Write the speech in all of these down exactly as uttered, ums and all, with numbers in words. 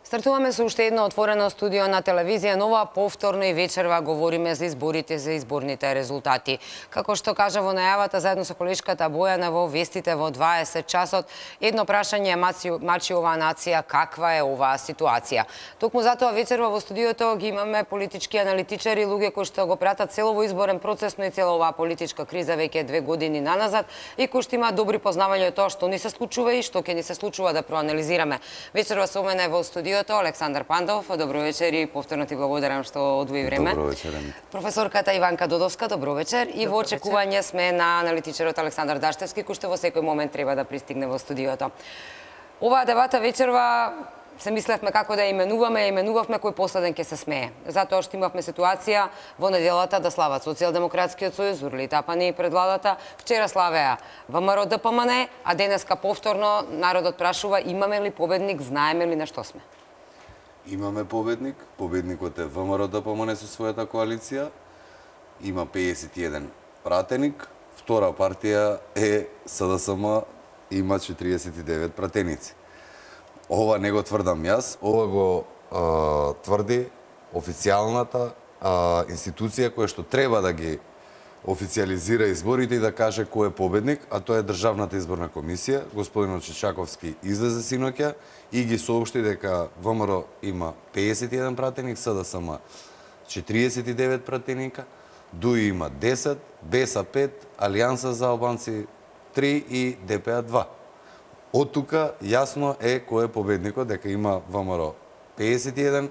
Стартуваме со уште едно отворено студио на телевизија Нова. Повторно и вечерва говориме за изборите, за изборните резултати. Како што кажа во најавата заедно со колешката Бојана во вестите во дваесет часот, едно прашање мачи оваа нација, каква е оваа ситуација. Токму затоа вечерва во студиото ги имаме политички аналитичари, луѓе кои што го пратат целово изборен процес, но и цела оваа политичка криза веќе две години наназад и кои што има добри познавања од тоа што ни се случува и што ќе ни се случува да проанализираме. Вечерва со мене во студиото Александар Пандов, добро вечер и повторно ти благодарам што одвои време. Добро вечер. Професорката Иванка Додовска, добро вечер. И во очекување сме на аналитичарот Александар Даштевски, кој што во секој момент треба да пристигне во студиото. Оваа дебата вечерва се мислевме како да именуваме, именувавме кој последен ќе се смее. Затоа што имавме ситуација во неделата да слават Социјалдемократскиот сојуз, Урли Тапани пред владата, вчера славеа ВМРО Д П М Н, а денеска повторно народот прашува имаме ли победник, знаеме ли на што сме. Имаме победник, победникот е ВМРО Д П М Н со својата коалиција, има пеесет и еден пратеник, втора партија е С Д С М, има четириесет и девет пратеници. Ова не го тврдам јас, ова го а, тврди официјалната а, институција која што треба да ги официализира изборите и да каже кој е победник, а тоа е Државната изборна комисија. Господинот Чичаковски излезе синоќа и ги соопшти дека ВМРО има пеесет и еден пратеник, С Д С М четириесет и девет пратеника, Д У И има десет, Б Е С пет, Алијанса за албанци три и Д П А два. Од тука јасно е кој е победникот, дека има ВМРО пеесет и еден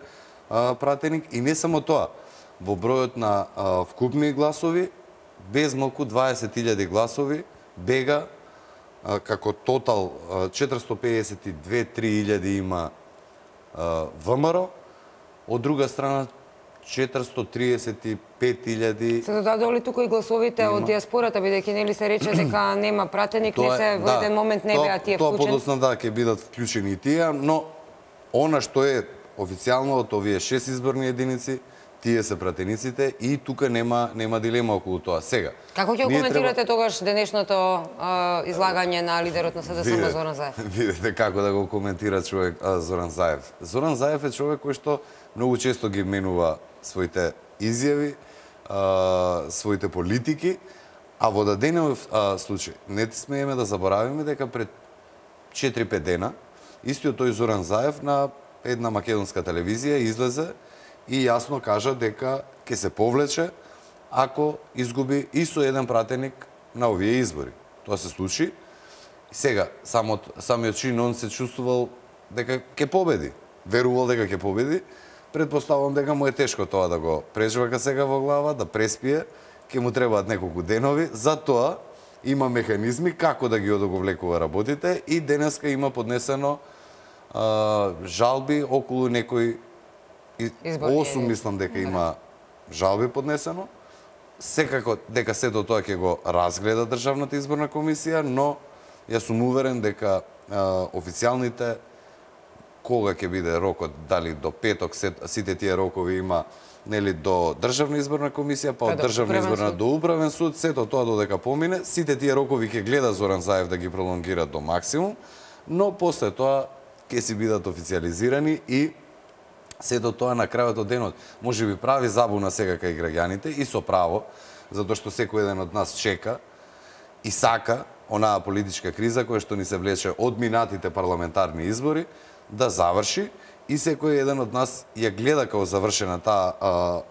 а, пратеник и не само тоа, во бројот на а, вкупни гласови, без малку дваесет илјади гласови бега а, како тотал а, четиристотини пеесет и две до три илјади има а, ВМРО, од друга страна четиристотини триесет и пет илјади. Се додадоли тука и гласовите има од диаспората, бидејќи нели се рече дека нема пратеник, тоа, не се во да, еден момент не беа тие вклучени. Тоа подоцна да ќе бидат вклучени и тие, но она што е официјално од овие шест изборни единици, тие се пратениците и тука нема нема дилема околу тоа. Сега. Како ќе коментирате треба... тогаш денешното а, излагање на лидерот на С Д С М Зоран Заев? Видете како да го коментира човек а, Зоран Заев. Зоран Заев е човек кој што многу често ги менува своите изјави, а, своите политики, а во даденов случај не смееме да заборавиме дека пред четири-пет дена истиот тој Зоран Заев на една македонска телевизија излезе и јасно кажа дека ќе се повлече ако изгуби и со еден пратеник на овие избори. Тоа се случи. Сега, самот, самиот чин он се чувствувал дека ќе победи. Верувал дека ќе победи. Предпоставувам дека му е тешко тоа да го прежвака сега во глава, да преспие. Ќе му требаат неколку денови. Затоа има механизми како да ги одоговлекува работите и денеска има поднесено а, жалби околу некои осум, мислам дека има жалби поднесено. Секако дека сето тоа ќе го разгледа Државната изборна комисија, но јас сум уверен дека а, официјалните кога ќе биде рокот, дали до петок, сите тие рокови има нели до Државна изборна комисија, па од Државна изборна до Управен суд, сето тоа додека помине, сите тие рокови ќе гледа Зоран Заев да ги пролонгира до максимум, но после тоа ќе си бидат официализирани и сето тоа на крајот од денот може би прави забуна сега кај граѓаните и со право, затоа што секој еден од нас чека и сака онаа политичка криза која што ни се влече од минатите парламентарни избори да заврши и секој еден од нас ја гледа како завршена таа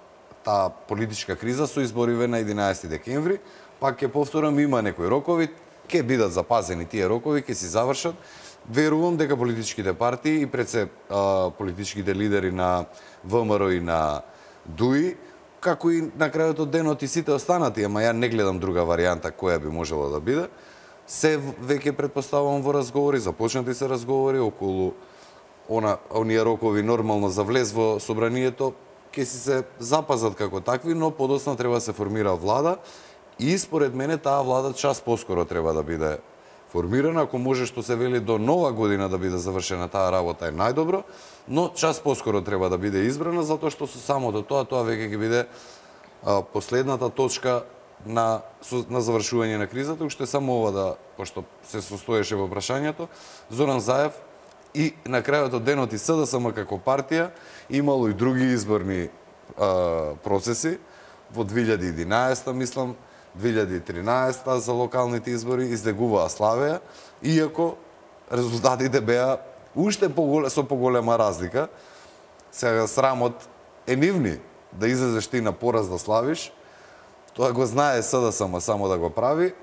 таа политичка криза со избориве на единаесети декември, пак ќе повторам има некои рокови, ќе бидат запазени тие рокови, ќе си завршат. Верувам дека политичките партии и пред се а, политичките лидери на ВМРО и на Д У И, како и на крајот од денот и сите останати, ама ја не гледам друга варијанта која би можела да биде, се веќе предпоставувам во разговори, започнати се разговори околу она оние рокови нормално за влез во собранието, ќе си се запазат како такви, но подоцна треба да се формира влада и според мене таа влада час поскоро треба да биде формирана, ако може што се вели до нова година да биде завршена таа работа е најдобро, но час поскоро треба да биде избрана, затоа што со самото тоа, тоа веќе ќе биде а, последната точка на, на завршување на кризата, уште само ова да, пошто се состоеше во прашањето, Зоран Заев и на крајот од денот и СДСМ како партија имало и други изборни а, процеси во две илјади и единаесета, мислам, две илјади и тринаесета за локалните избори излегуваа славеа, иако резултатите беа уште поголе, со поголема разлика. Сега срамот е нивни да излезеш ти на пораз да славиш. Тоа го знае СДСМ само да го прави.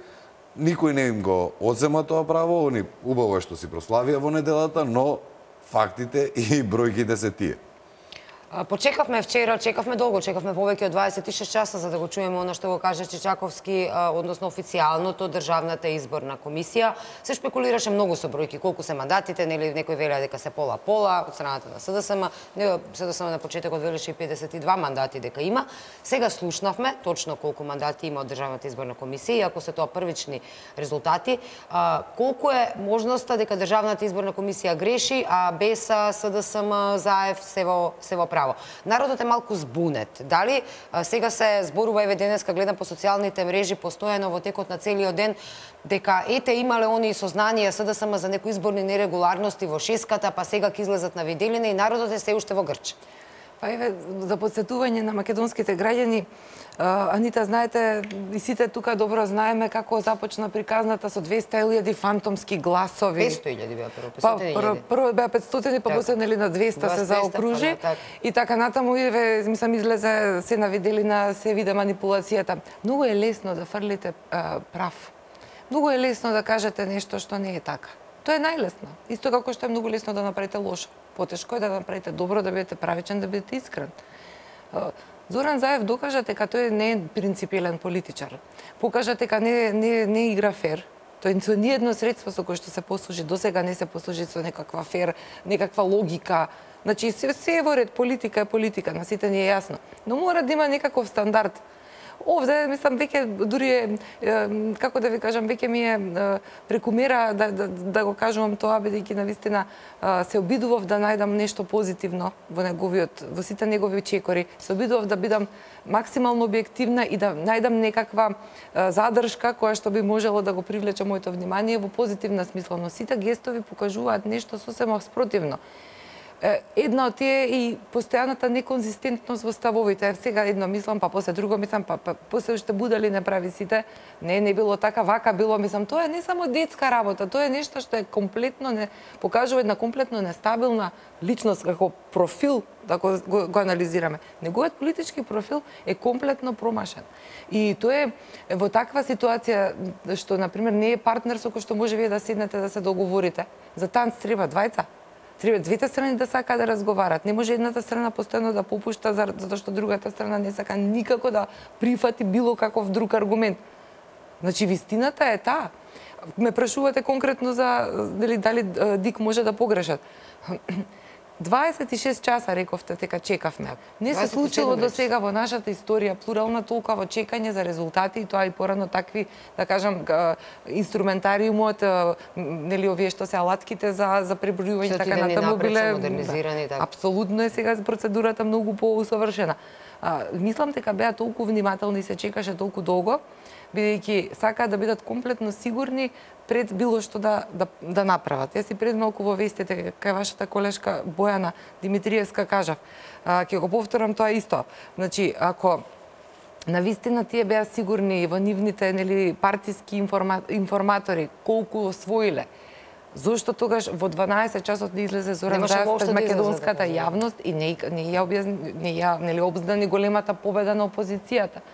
Никој не им го одзема тоа право, они убаво што си прославија во неделата, но фактите и бројките се тие. Почекавме вчера, чекавме долго, чекавме повеќе од дваесет и шест часа за да го чуеме оно што го каже Чичаковски, односно официјалното Државната изборна комисија. Се шпекулираше многу со бројки, колку се мандатите, нели некој велеа дека се пола-пола од страната на СДСМ, СДСМ на почетокот велеше и педесет и два мандати дека има. Сега слушнавме точно колку мандати има од Државната изборна комисија, и ако се тоа првични резултати, колку е можноста дека Државната изборна комисија греши, а без СДСМ, Заев се во се во право. Народот е малку збунет. Дали а, сега се зборува, еве денеска гледам по социјалните мрежи постојано во текот на целиот ден, дека ете имале они сознание СДСМ за некои изборни нерегуларности во шеската, па сега ќе излезат на виделина и народот е се уште во грч. Па еве, за подсетување на македонските граѓани, Анита, знаете, и сите тука добро знаеме како започна приказната со двесте илјади фантомски гласови. петстотини илјади беа прво, Па, петстотини прво, илјади. прво беа петстотини, па после нели на двесте се заокружи. Па, да, и така натаму, еве, мислам, излезе се на виделина, се виде манипулацијата. Многу е лесно да фрлите а, прав. Многу е лесно да кажете нешто што не е така. Тоа е најлесно. Исто како што е многу лесно да направите лошо. Потешко е да направите добро, да бидете правичен, да бидете искрен. Зоран Заев докажа дека тој не е принципиелен политичар. Покажа дека не, не, не игра фер. Тој со ниедно средство со кое што се послужи досега не се послужи со некаква фер, некаква логика. Значи, се, се е во ред, политика е политика, на сите ни е јасно. Но мора да има некаков стандард. Овде, мислам, веќе дури е, како да ви кажам, веќе ми е прекумера да, да, да го кажувам тоа, бидејќи навистина се обидував да најдам нешто позитивно во неговиот, во сите негови чекори. Се обидував да бидам максимално објективна и да најдам некаква задршка која што би можело да го привлече моето внимание во позитивна смисла, но сите гестови покажуваат нешто сосема спротивно. Една од тие и постојаната неконзистентност во ставовите. Сега едно мислам, па после друго мислам, па, па после уште будали не прави сите. Не, не било така, вака било, мислам, тоа е не само детска работа, тоа е нешто што е комплетно не покажува една комплетно нестабилна личност како профил, да го, го, го анализираме. Неговиот политички профил е комплетно промашен. И тоа е во таква ситуација што на пример не е партнер со кој што може вие да седнете да се договорите. За танц треба двајца. Треба двете страни да сакаат да разговарат. Не може едната страна постојано да попушта затоа што другата страна не сака никако да прифати било каков друг аргумент. Значи вистината е таа. Ме прашувате конкретно за дали дали Дик може да погрешат. дваесет и шест часа рековте дека чекавме. Не се случило до сега во нашата историја плурална толкова чекање за резултати и тоа и порано такви, да кажам, инструментариумот, нели овие што се алатките за за пребројување така натаму биле модернизирани така. Апсолутно е сега процедурата многу поусовршена. Мислам дека беа толку внимателни и се чекаше толку долго, бидејќи сакаат да бидат комплетно сигурни пред било што да, да, да направат. Јас и пред малку во вестите, кај вашата колешка Бојана Димитриевска кажав, ќе го повторам тоа исто. Значи, ако навистина тие беа сигурни во нивните нели партиски информа, информатори колку освоиле, зошто тогаш во дванаесет часот не излезе Зоран Заев пред македонската јавност и не, не ја објазни, не ја нели обзнани големата победа на опозицијата?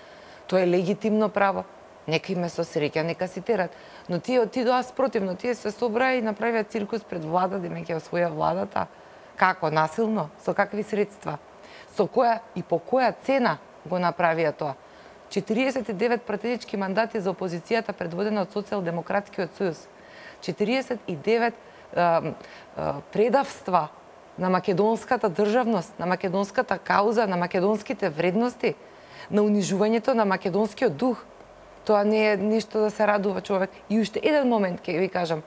Тоа е легитимно право. Нека име со среќа, нека си терат. Но тие отидоа спротивно, тие се собраа и направија циркус пред влада, дека ќе освоја владата. Како? Насилно? Со какви средства? Со која и по која цена го направија тоа? четириесет и девет пратенички мандати за опозицијата предводена од Социјалдемократскиот сојуз. четириесет и девет а, а, предавства на македонската државност, на македонската кауза, на македонските вредности, на унижувањето на македонскиот дух. Тоа не е нешто да се радува човек. И уште еден момент ќе ви кажам.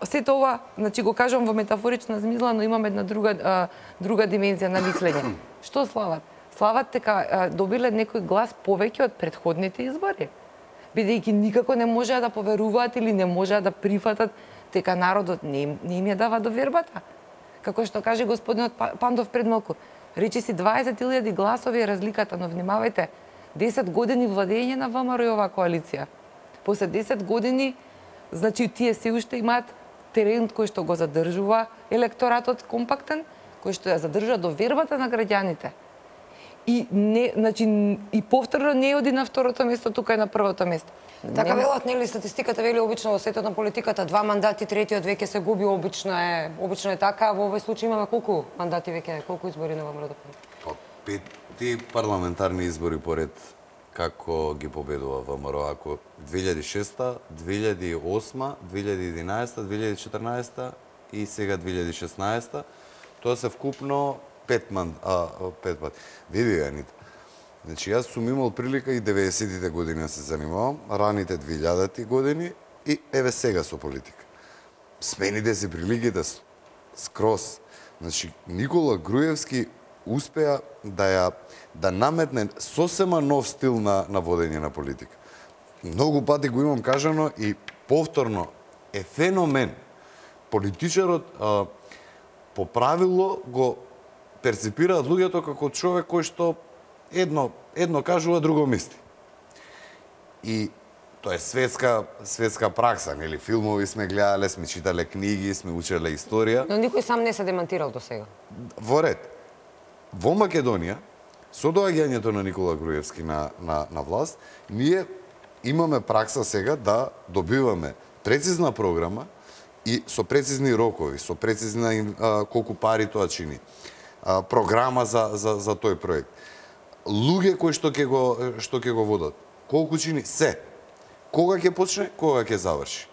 Сето ова, значи го кажам во метафорична змисла, но имам една друга друга димензија на мислење. Што слават? Слават дека добиле некој глас повеќе од претходните избори. Бидејќи никако не можеа да поверуваат или не можеа да прифатат дека народот не им, не им ја дава довербата. Како што каже господинот Пандов пред малку, речи си дваесет илјади гласови е разликата, но внимавајте, десет години владење на ВМРО и оваа коалиција. После десет години, значи тие се уште имаат терен кој што го задржува електоратот компактен, кој што ја задржува довербата на граѓаните. И не, значи и повторно не оди на второто место, тука е на првото место. Така велат, нели статистиката вели обично во светот на политиката два мандати, третиот веќе се губи, обично е, обично е така. Во овој случај имаме колку мандати веќе, колку избори на ВМРО? Па петти парламентарни избори поред како ги победува ВМРО, ако две илјади и шеста, две илјади и осма, две илјади и единаесета, две илјади и четрнаесета и сега две илјади и шеснаесета, тоа се вкупно пет ман, а, пет пат. Види ја, Анита. Значи, јас сум имал прилика и деветдесетите години да се занимавам, раните две илјадати години и еве сега со политика. Смените се приликите скроз. Значи, Никола Груевски успеа да ја да наметне сосема нов стил на на водење на политика. Многу пати го имам кажано и повторно е феномен. Политичарот а, по правило го перципираат луѓето како човек кој што едно едно кажува, друго мисли. И тоа е светска светска пракса, нели? Филмови сме гледале, сме читале книги, сме учеле историја. Но никој сам не се демантирал до сега. Во ред. Во Македонија, со доаѓањето на Никола Груевски на, на, на власт, ние имаме пракса сега да добиваме прецизна програма и со прецизни рокови, со прецизна а, колку пари тоа чини, а, програма за, за, за тој проект. Луѓе кои што ќе го, што ќе го водат, колку чини се, кога ќе почне, кога ќе заврши.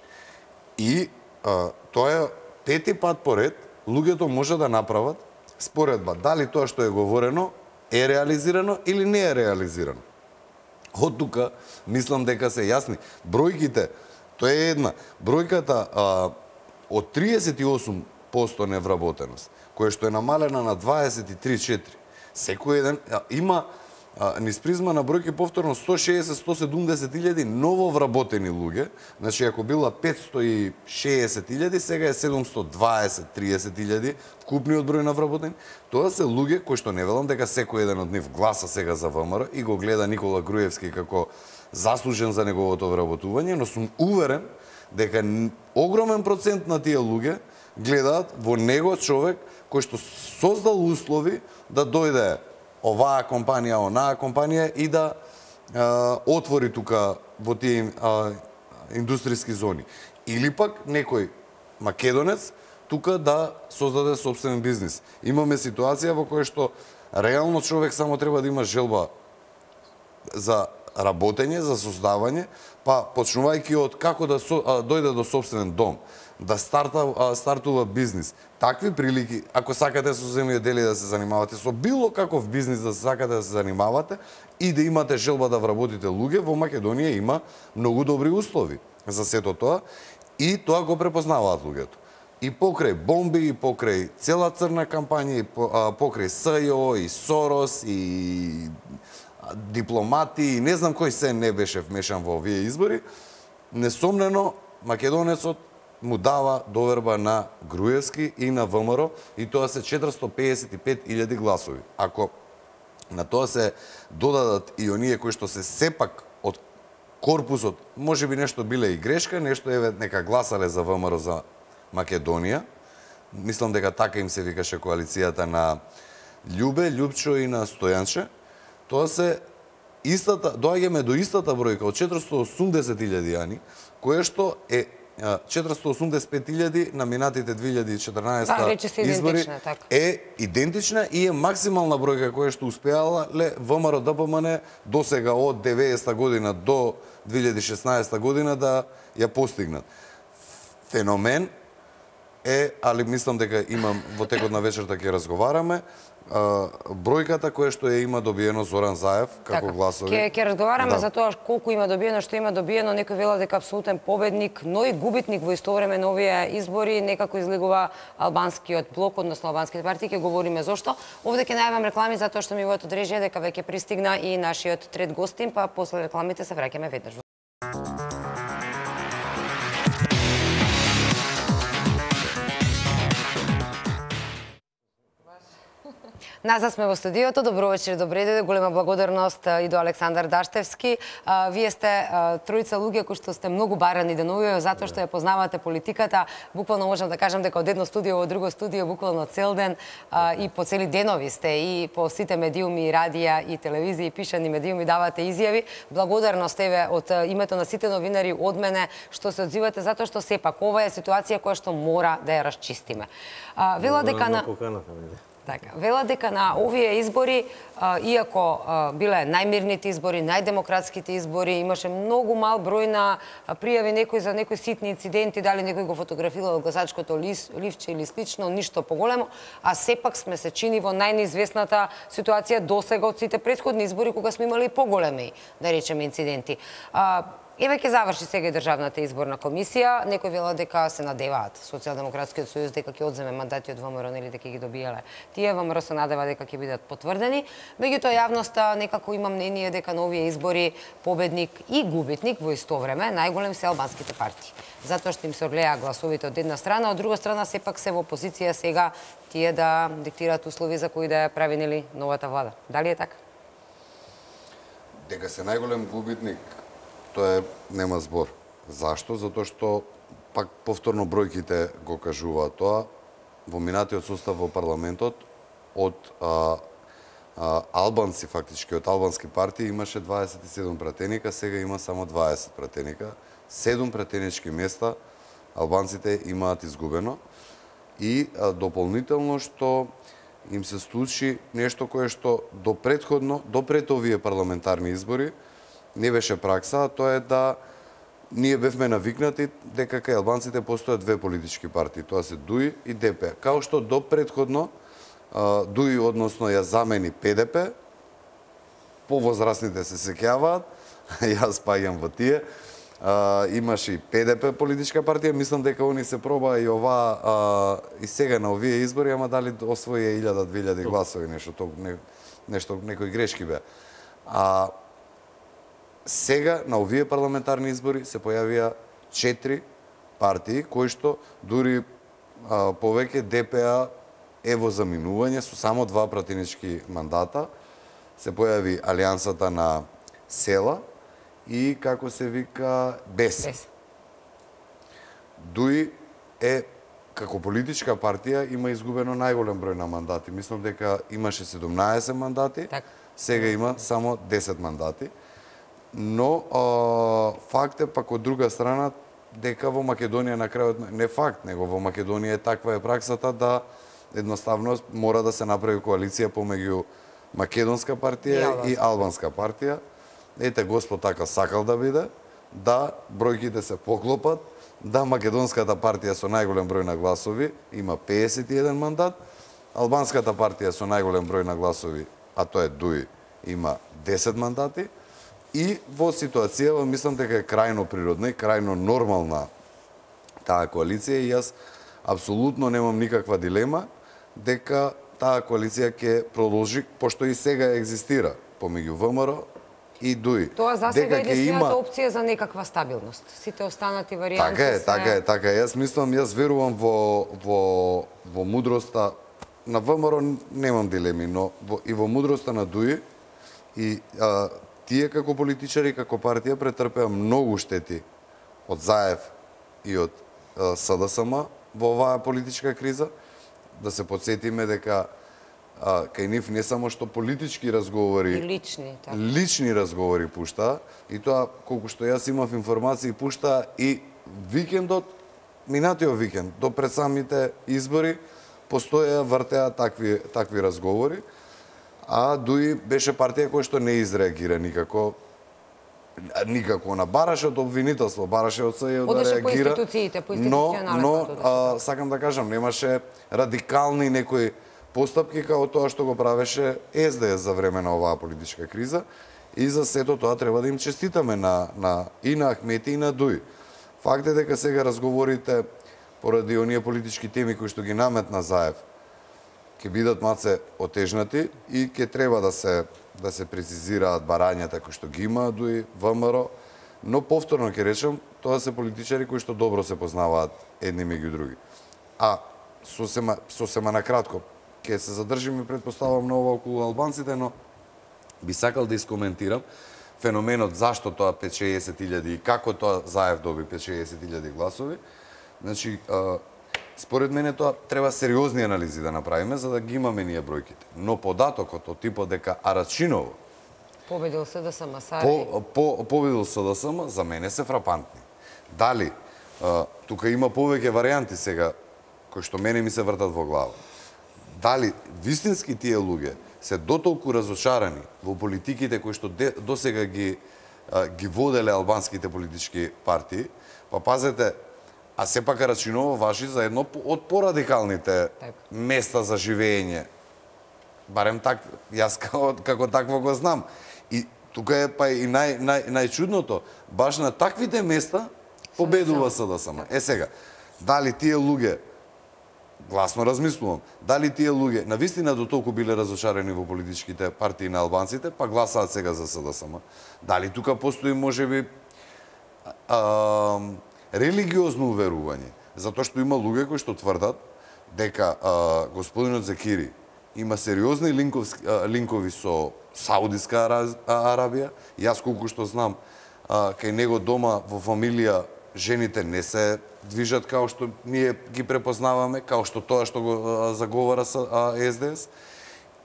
И а, тоа е пети пат поред, луѓето може да направат споредба дали тоа што е говорено е реализирано или не е реализирано. Од тука мислам дека се јасни бројките. Тоа е една бројката а, од триесет и осум проценти невработеност, која што е намалена на дваесет и три и четири. Секој еден а, има а, низ призма на бројки повторно сто шеесет до сто седумдесет илјади ново вработени луѓе. Значи ако била петстотини и шеесет илјади, сега е седумстотини и дваесет до триесет илјади вкупниот број на вработени. Тоа се луѓе кои што не велам дека секој еден од нив гласа сега за ВМРО и го гледа Никола Груевски како заслужен за неговото вработување, но сум уверен дека огромен процент на тие луѓе гледаат во него човек кој што создал услови да дојде оваа компанија, онаа компанија и да е, отвори тука во тие е, индустријски зони. Или пак некој македонец тука да создаде собствен бизнис. Имаме ситуација во која што реално човек само треба да има желба за работење, за создавање, па почнувајќи од како да со, а, дојде до собствен дом, да старта, а, стартува бизнис. Такви прилики, ако сакате со земјоделие да се занимавате, со било каков бизнис да сакате да се занимавате и да имате желба да вработите луѓе, во Македонија има многу добри услови за сето тоа и тоа го препознаваат луѓето. И покрај бомби, и покрај цела црна кампања, и покрај СЈО, и Сорос, и дипломати, и не знам кој се не беше вмешан во овие избори, несомнено македонецот му дава доверба на Груевски и на ВМРО, и тоа се четиристотини пеесет и пет илјади гласови. Ако на тоа се додадат и оние кои што се сепак од корпусот, може би нешто биле и грешка, нешто еве нека гласале за ВМРО за Македонија, мислам дека така им се викаше коалицијата на Љубе, Љупчо и на Стојанче, тоа се истата, доаѓаме до истата бројка од четиристотини и осумдесет илјади јани, која што е четиристотини и осумдесет и пет илјади на минатите две илјади и четрнаесета избори е идентична и е максимална бројка која што успеала ле ВМРО ДПМН до сега од деветдесета година до две илјади и шеснаесета година да ја постигнат. Феномен е, али мислам дека имам во текот на вечерта ќе разговараме, бројката која што ја има добиено Зоран Заев како така, гласови. Ке, ке разговараме да. за тоа колку има добиено, што има добиено, некој вела дека апсолутен победник, но и губитник во исто време на овие избори, некако излегува албанскиот блок, односно албанските партии, ќе говориме зошто. Овде ќе најавам реклами затоа што ми во одрежија дека веќе пристигна и нашиот трет гостин, па после рекламите се враќаме веднаш. Назад сме во студиото. Добро вечер, добре дојде. Голема благодарност и до Александар Даштевски. Вие сте тројца луѓе кои што сте многу барани деновиве затоа што ја познавате политиката. Буквално можам да кажам дека од едно студио во друго студио буквално цел ден и по цели денови сте и по сите медиуми, и радија, и телевизија, и пишани медиуми давате изјави. Благодарност еве од името на сите новинари од мене што се одзивате затоа што сепак ова е ситуација која што мора да ја расчистиме. Вела дека на Така, вела дека на овие избори, иако биле најмирните избори, најдемократските избори, имаше многу мал број на пријави некои за некои ситни инциденти, дали некој го фотографирал гласачкото ливче или слично, ништо поголемо, а сепак сме се чини во најнизвестната ситуација досега од сите претходни избори кога сме имали поголеми, да речеме, инциденти. Еве ќе заврши сега и Државната изборна комисија. Некои велат дека се надеваат Социјалдемократскиот сојуз дека ќе одземе мандати од ВМРО или дека ги добиеле. Тие ВМРО се надева дека ќе бидат потврдени. Меѓутоа јавноста некако има мнение дека на овие избори победник и губитник во исто време најголем се албанските партии. Затоа што им се орлеа гласовите од една страна, од друга страна сепак се во позиција сега тие да диктираат услови за кои да ја прави нели новата влада. Дали е така? Дека се најголем губитник, тоа е, нема збор. Зашто? Затоа што пак повторно бројките го кажуваат тоа. Во минатиот состав во парламентот од а, а, албанци, фактички од албански партии имаше дваесет и седум пратеника, сега има само дваесет пратеника. седум пратенички места албанците имаат изгубено и а, дополнително што им се случи нешто кое што до претходно, до пред овие парламентарни избори не беше пракса, а тоа е да ние бевме навикнати дека кај албанците постојат две политички партии, тоа се ДУИ и ДП. Као што до претходно ДУИ, односно ја замени ПДП, повозрасните се сеќаваат, јас паѓам во тие, имаше и ПДП политичка партија, мислам дека они се проба и ова и сега на овие избори, ама дали освои илјада две илјади гласови, нешто, то, не, нешто некои грешки беа. А сега на овие парламентарни избори се појавија четири партии кои што дури а, повеќе ДПА е во заминување со само два пратенички мандата. Се појави Алијансата на села и како се вика БЕС. Бес. ДУИ е како политичка партија има изгубено најголем број на мандати. Мислам дека имаше седумнаесет мандати, так. Сега има само десет мандати. Но а, факт е пак од друга страна дека во Македонија на крајот, не факт, него во Македонија е таква е праксата да едноставно мора да се направи коалиција помеѓу Македонска партија и, и Албанска партија. Ете Господ така сакал да биде, да бројките се поклопат, да Македонската партија со најголем број на гласови има педесет и еден мандат, Албанската партија со најголем број на гласови, а тоа е ДУИ, има десет мандати. И во ситуација, мислам дека е крајно природна и крајно нормална таа коалиција и јас апсолутно немам никаква дилема дека таа коалиција ќе продолжи, пошто и сега екзистира помеѓу ВМРО и ДУИ. Тоа за сега е единствената има... опција за некаква стабилност. Сите останати варијанти Така е, се... така е, така е. Јас мислам, јас верувам во, во, во мудроста на ВМРО, немам дилеми, но во, и во мудроста на ДУИ и а, тие како политичари, како партија претрпеа многу штети од ЗАЕВ и од СДСМ во оваа политичка криза. Да се подсетиме дека а, кај нив не само што политички разговори, и лични, така. лични разговори пушта, и тоа колку што јас имав информации пушта и викендот, минатиот викенд, до пред самите избори, постоја вртеа такви такви разговори. А ДУИ беше партија која што не изреагира никако, никако на бараше од обвинителство, бараше од СЈО да реагира. По институциите, по институционален но, пат. Но, а, сакам да кажам, немаше радикални некои постапки како тоа што го правеше СДС за време на оваа политичка криза. И за сето тоа треба да им честитаме на, на, и на Ахмети и на ДУИ. Факт е дека сега разговорите поради оние политички теми кои што ги наметна ЗАЕВ ќе бидат маце отежнати и ќе треба да се да се прецизираат барањата кои што ги има ДУИ, ВМРО, но повторно ќе речем, тоа се политичари кои што добро се познаваат едни меѓу други. А сосема сосема на кратко, ќе се задржиме, предпоставам, на ова околу албанците, но би сакал да искоментирам феноменот зашто тоа петшеесет илјади и како тоа Заев доби петшеесет илјади гласови. Значи, според мене тоа треба сериозни анализи да направиме за да ги имаме ние бројките. Но податокот од типот дека Арачиново победил СДСМ, Сарај. по, по, победил СДСМ, за мене се фрапантни. Дали а, тука има повеќе варијанти сега кои што мене ми се вртат во глава. Дали вистински тие луѓе се дотолку разочарани во политиките кои што досега ги а, ги воделе албанските политички партии, па пазете, а сепак Арачиново важи за едно од порадикалните так. места за живење. Барем так, јас како, како такво го знам. И тука е па и нај, нај, најчудното, баш на таквите места победува СДСМ. Е сега, дали тие луѓе, гласно размислувам, дали тие луѓе навистина до толку биле разочарани во политичките партии на албанците, па гласаат сега за СДСМ. Дали тука постои можеби а, религиозно уверување, затоа што има луѓе кои што тврдат дека а, господинот Зекири има сериозни линковски, а, линкови со Саудиска Арабија. Јас колку што знам, а, кај него дома во фамилија жените не се движат као што ние ги препознаваме, као што тоа што го а, заговара С Д С,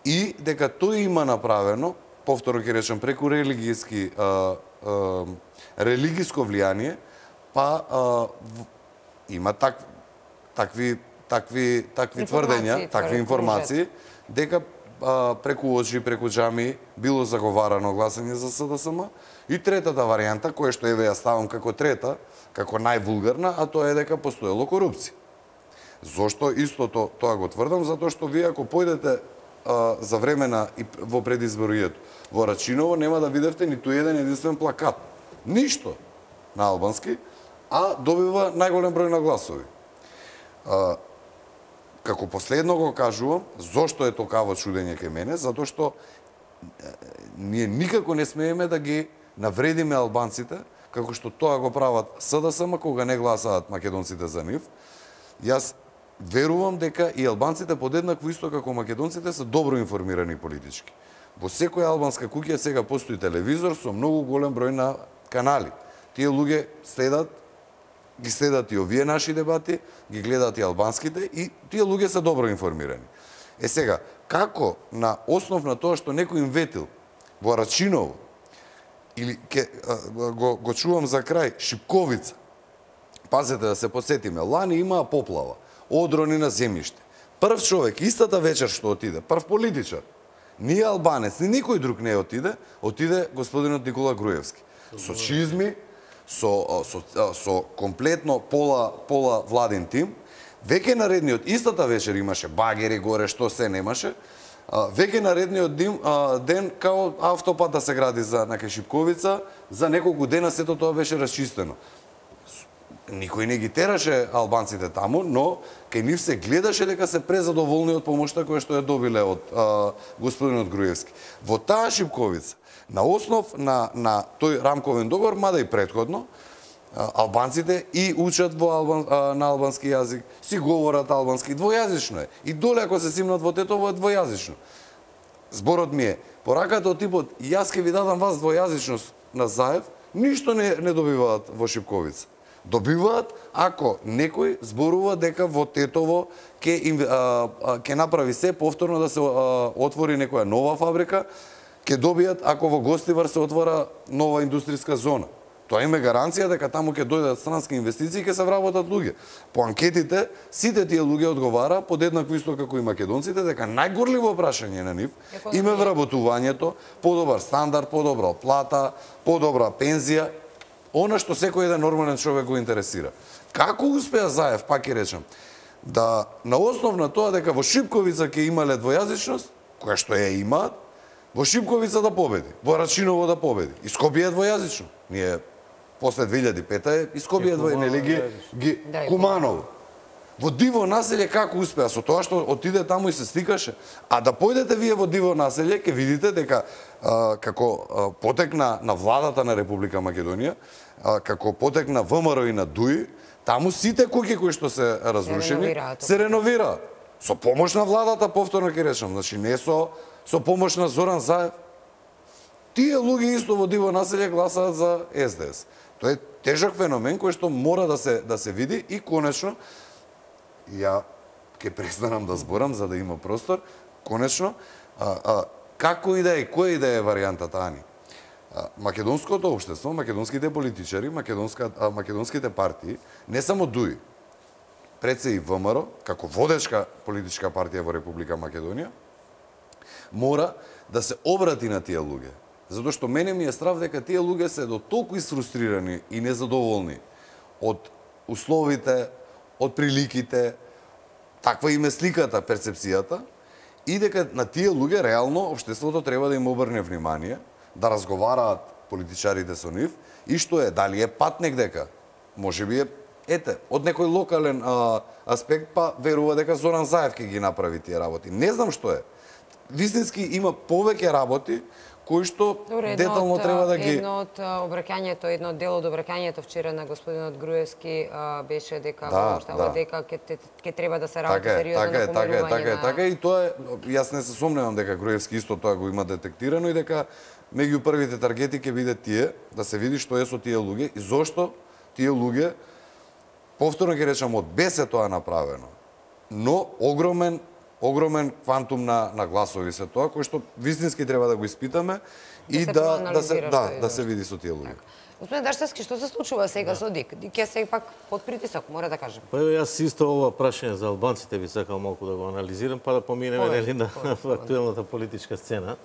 и дека тој има направено, повторно ќе речем, преку религијски а, а, религиско влијание, па а, в, има так, такви такви такви тврдења, такви информации дека а, преку оджи, преку џами било заговарано гласање за СДСМ. И третата варијанта, која што еве ја ставам како трета, како највулгарна, а тоа е дека постоело корупција. Зошто истото тоа го тврдам? Затоа што вие ако појдете а, за време на и во предизборието во Рачиново, нема да видевте ниту еден единствен плакат. Ништо на албански, а добива најголем број на гласови. А, како последно го кажувам, зошто е токаво чудење кај мене, затоа што ние никако не смееме да ги навредиме албанците, како што тоа го прават СДСМ кога не гласаат македонците за нив. Јас верувам дека и албанците подеднакво исто како македонците се добро информирани политички. Во секоја албанска куќа сега постои телевизор со многу голем број на канали. Тие луѓе следат, ги следат и овие наши дебати, ги гледаат и албанските, и тие луѓе се добро информирани. Е сега, како на основ на тоа што некој им ветил во Рачиново, или ке, го, го чувам за крај, Шипковица, пазете да се подсетиме, лани имаа поплава, одрони на земјиште. Прв човек, истата вечер што отиде, прв политичар, ни албанец, ни никој друг не отиде, отиде господинот Никола Груевски. Со чизми, со, со, со комплетно пола, пола владин тим. Веќе наредниот, истата вечер имаше багери горе, што се немаше. Веќе наредниот дим, ден, као автопат да се гради за на Шипковица, за неколку дена сето тоа беше расчистено. Никој не ги тераше албанците таму, но кај нив се гледаше дека се презадоволни од помошта која што ја добиле од а, господинот Груевски. Во таа Шипковица, на основ на, на тој рамковен договор, мада и претходно, а, албанците и учат во албан, а, на албански јазик, си говорат албански, двојазично е. И доле ако се симнат во Тетово е двојазично. Зборот ми е, пораката од типот, јас ке ви дадам вас двојазичност на Заев, ништо не, не добиваат во Шипковица. Добиваат ако некој зборува дека во Тетово ќе ќе направи се повторно да се а, отвори некоја нова фабрика, ќе добијат ако во Гостивар се отвора нова индустријска зона. Тоа има гаранција дека таму ќе дојдат странски инвестиции и ќе се вработат луѓе. По анкетите сите тие луѓе одговара подеднакво исто како и македонците дека најгорливо прашање на нив им е вработувањето, подобар стандард, подобра плата, подобра пензија. Она што секој еден нормален човек го интересира. Како успеа Заев, пак ќе речам, да на основ на тоа дека во Шипковица ќе имале двојазичност, која што ја имаат, во Шипковица да победи, во Рачиново да победи. И Скопје е двојазично. Ние после две илјади и пета е и Скопје е двојазично, нели ги, ги Куманово. Во Диво населје како успеа со тоа што отиде таму и се стикаше. А да појдете вие во Диво населје, ќе видите дека а, како а, потекна на владата на Република Македонија, а, како потекна ВМРО и на ДУИ, таму сите куќи кои што се разрушени, се реновираат. Со помош на владата, повторно ќе речам, значи не со со помош на Зоран Заев. Тие луѓе исто во диво населје гласаат за С Д С. Тоа е тежок феномен кој што мора да се да се види и конечно ја ќе престанам да зборам за да има простор. Конечно, а, а, како и да е, која и да е варијантата, Ани? А, македонското општество, македонските политичари, македонска, а, македонските партии, не само ДУИ, пред се и В М Р, како водечка политичка партија во Република Македонија, мора да се обрати на тие луѓе. Затоа што мене ми е страв дека тие луѓе се до толку изфрустрирани и незадоволни од условите, од приликите, таква им е сликата, перцепцијата, и дека на тие луѓе реално општеството треба да им обрне внимание, да разговараат политичарите со нив, и што е, дали е пат негдека, можеби е, ете, од некој локален а, аспект, па верува дека Зоран Заев ќе ги направи тие работи. Не знам што е. Вистински има повеќе работи кои што Добре, детално од, треба да ги... Едно од обраќањето, едно од дел од обраќањето вчера на господинот Груевски а, беше дека Да, обштава да. дека ќе ќе треба да се работи Така е, сериозно така е, на така е, помирување така е, на... така е, и тоа е, јас не се сомневам дека Груевски исто тоа го има детектирано и дека меѓу првите таргети ќе биде тие, да се види што е со тие луѓе и зошто тие луѓе, повторно ќе речам, од без е тоа направено, но огромен огромен квантум на на гласови се тоа кој што вистински треба да го испитаме и се да да се проанализира да што е да се зашто. види со тие луѓе. Господин Даштевски, што се случува сега со Дик? Дик е сепак под притисок, мора да кажем. Па еве јас исто ова прашање за албанците би сакал малку да го анализирам, па да поминеме Повеќе, нели на повеќе. актуелната политичка сцена.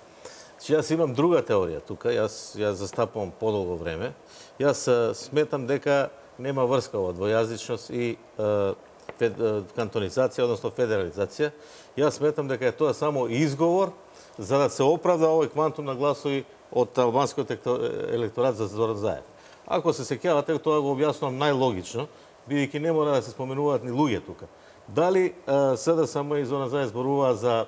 Че јас имам друга теорија тука, јас ја застапувам подолго време. Јас а, сметам дека нема врска ова двојазичност и а, фед, а, кантонизација, односно федерализација. Јас сметам дека е тоа само изговор за да се оправда овој квантум на гласови од албанскиот електорат за Зоран Заев. Ако се сеќавате, тоа го објаснувам најлогично, бидејќи не мора да се споменуваат ни луѓе тука. Дали С Д С М и Зоран Заев зборуваа за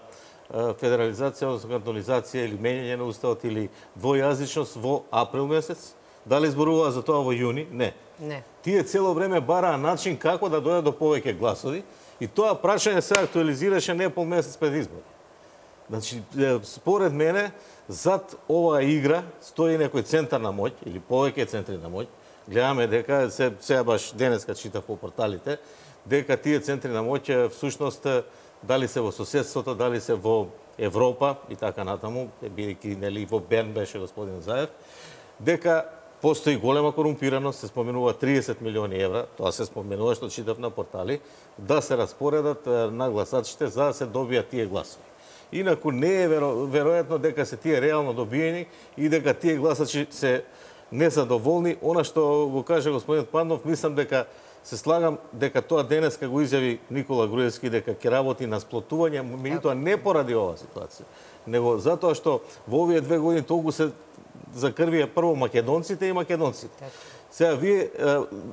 федерализација, односно кантонизација или менење на уставот или двојазичност во април месец? Дали зборуваа за тоа во јуни? Не. Не. Тие цело време бараа начин како да дојдат до повеќе гласови и тоа прашање се актуализираше не пол месец пред избори. Значи, според мене, зад оваа игра стои некој центар на моќ или повеќе центри на моќ. Гледаме дека се сега баш денеска читав по порталите дека тие центри на моќ всушност дали се во соседството, дали се во Европа и така натаму, бидејќи нели во Берн беше господин Заев, дека постои голема корумпираност, се споменува триесет милиони евра, тоа се споменува што читав на портали, да се распоредат на гласачите за да се добијат тие гласови. Инаку не е веро, веројатно дека се тие реално добиени и дека тие гласачи се незадоволни. Она што го каже господин Пандов, мислам дека се слагам дека тоа денеска го изјави Никола Груевски дека ќе работи на сплотување, меѓутоа не поради оваа ситуација, него затоа што во овие две години толку се закрвија прво македонците и македонците. Сега вие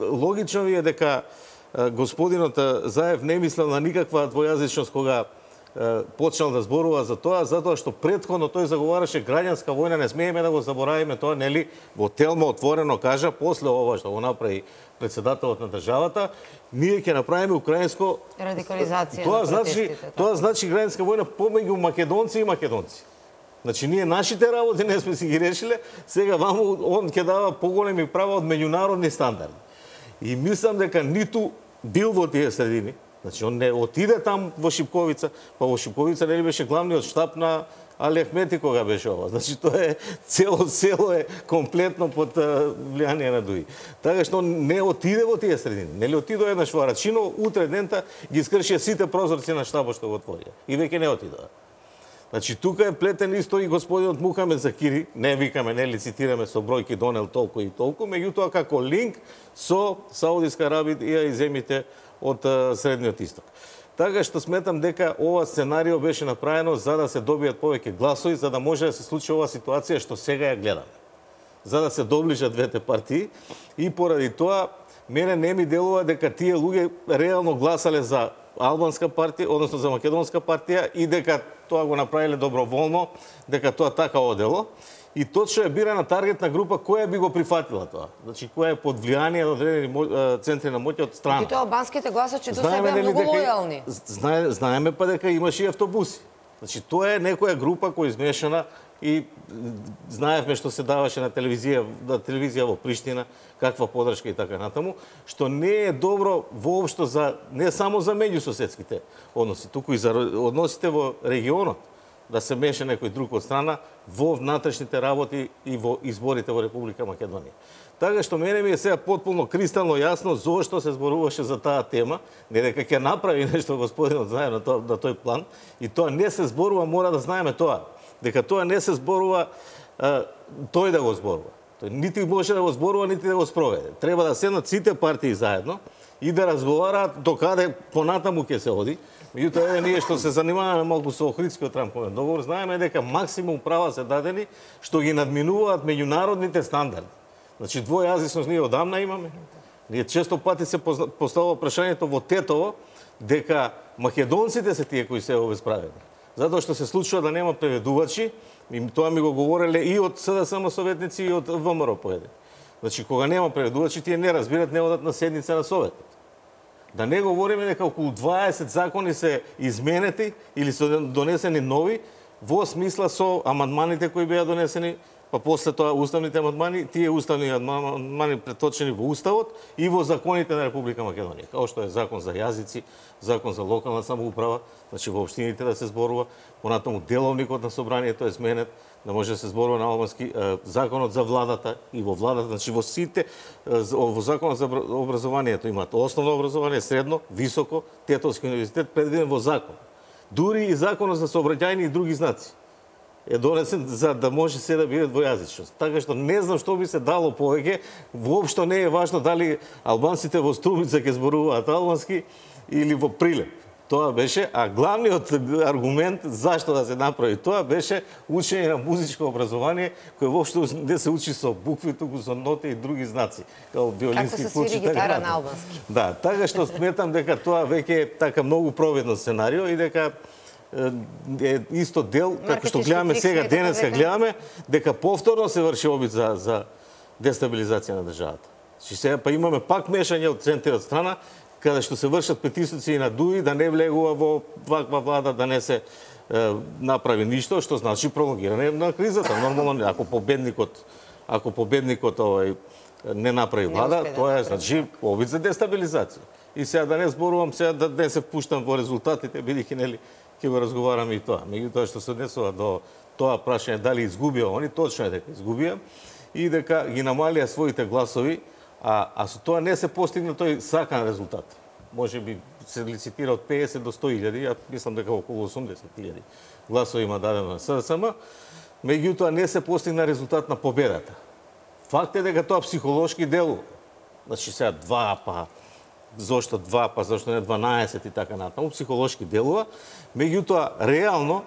логично ви е дека господинот Заев не мислел на никаква двојазичност кога почнал да зборува за тоа, затоа што претходно тој заговараше граѓанска војна, не смееме да го заборавиме тоа, нели, во Телма отворено кажа, после ова што го направи председателот на државата, ние ќе направиме украинско Радикализација тоа на значи, протестите. тоа значи граѓанска војна помеѓу македонци и македонци. Значи ние нашите работи не сме си ги решиле, сега ваму он ќе дава поголеми права од меѓународни стандарди. И мислам дека ниту бил во тие средини. Значи, он не отиде там во Шипковица, па во Шипковица не ли беше главниот штаб на Али Ахмети кога беше ова. Значи, тоа е цело село е комплетно под влијание на ДУИ. Така што не отиде во тие средини. Не ли отидоа еднаш во Рачино, утре дента ги скршија сите прозорци на штабот што го отворија. И веќе не отидоа. Значи, тука е плетен исто и господинот Мухамед Закири, не викаме, не лицитираме со бројки донел толку и толку, меѓутоа како линк со Саудиска Арабија и земите од Средниот Исток. Така што сметам дека ова сценарио беше направено за да се добијат повеќе гласови, за да може да се случи оваа ситуација што сега ја гледаме. За да се доближат двете партии и поради тоа мене не ми делува дека тие луѓе реално гласале за албанска партија, односно за македонска партија и дека тоа го направиле доброволно, дека тоа така одело. И точно е бирана таргетна група која би го прифатила тоа. Значи која е под влијание на одредени центри на моќ од страна. И тоа албанските гласачи до сега беа многу лојални. Знае, знаеме па дека имаше и автобуси. Значи тоа е некоја група која измешана и знаевме што се даваше на телевизија, на телевизија во Приштина, каква подршка и така натаму, што не е добро воопшто за не само за меѓусоседските односи, туку и за односите во регионот, да се меше некој друг од страна во внатрешните работи и во изборите во Република Македонија. Така што мене ми е сега потполно кристално јасно зошто се зборуваше за таа тема, не дека ќе направи нешто господинот знае на, тоа, на тој план, и тоа не се зборува, мора да знаеме тоа, дека тоа не се зборува а, тој да го зборува. Тој нити може да го зборува, нити да го спроведе. Треба да седнат сите партии заедно и да разговараат докаде понатаму ќе се оди. Меѓутоа, еве ние што се занимаваме малку со Охридскиот рамковен договор, знаеме дека максимум права се дадени што ги надминуваат меѓународните стандарди. Значи двојазичност ние одамна имаме. Ние често пати се поставува прашањето во Тетово дека македонците се тие кои се обесправени. Затоа што се случува да нема преведувачи, и тоа ми го говореле и од СДСМ советници и од ВМРО поеден. Значи кога нема преведувачи, тие не разбират, не одат на седница на советот. Да не говориме дека околу дваесет закони се изменети или се донесени нови во смисла со амандманите кои беа донесени, па после тоа уставните амандмани, тие уставни амандмани преточени во уставот и во законите на Република Македонија, како што е закон за јазици, закон за локална самоуправа, значи во општините да се зборува, понатаму деловникот на собранието е сменет, да може да се зборува на албански, законот за владата и во владата, значи во сите, во законот за образованието имаат основно образование, средно, високо, Тетовски универзитет предвиден во закон. Дури и законот за сообраќајни и други знаци е донесен за да може се да биде двојазичност. Така што не знам што би се дало повеќе, воопшто не е важно дали албанците во Струмица ќе зборуваат албански или во Прилеп. Тоа беше, а главниот аргумент зашто да се направи тоа беше учење на музичко образование, кој воопшто не се учи со букви, туку со ноти и други знаци, како виолински Како се свири гитара на албански. Да, така што сметам дека тоа веќе е така многу провидно сценарио и дека е исто дел, како што гледаме сега, денеска гледаме, дека повторно се врши обид за, за дестабилизација на државата. Че сега па имаме пак мешање од центарот страна, каде што се вршат петисуци на ДУИ, да не влегува во ваква влада, да не се е, направи ништо, што значи пролонгирање на кризата. Нормално, ако победникот, ако победникот овај не направи влада, не тоа е значи обид за дестабилизација. И сега да не зборувам, сега да не се впуштам во резултатите, бидејќи нели ќе го разговараме и тоа. Меѓутоа што се однесува до тоа прашање дали изгубија они, точно е дека изгубија и дека ги намалија своите гласови, а, а со тоа не се постигна тој сакан резултат. Може би се лицитира од педесет до сто илјади, ја мислам дека околу осумдесет илјади гласови има дадено на СДСМ, меѓутоа не се постигна резултат на победата. Факт е дека тоа психолошки делува. Значи сега два, па зошто два, па зошто не дванаесет и така натаму, психолошки делува, меѓутоа реално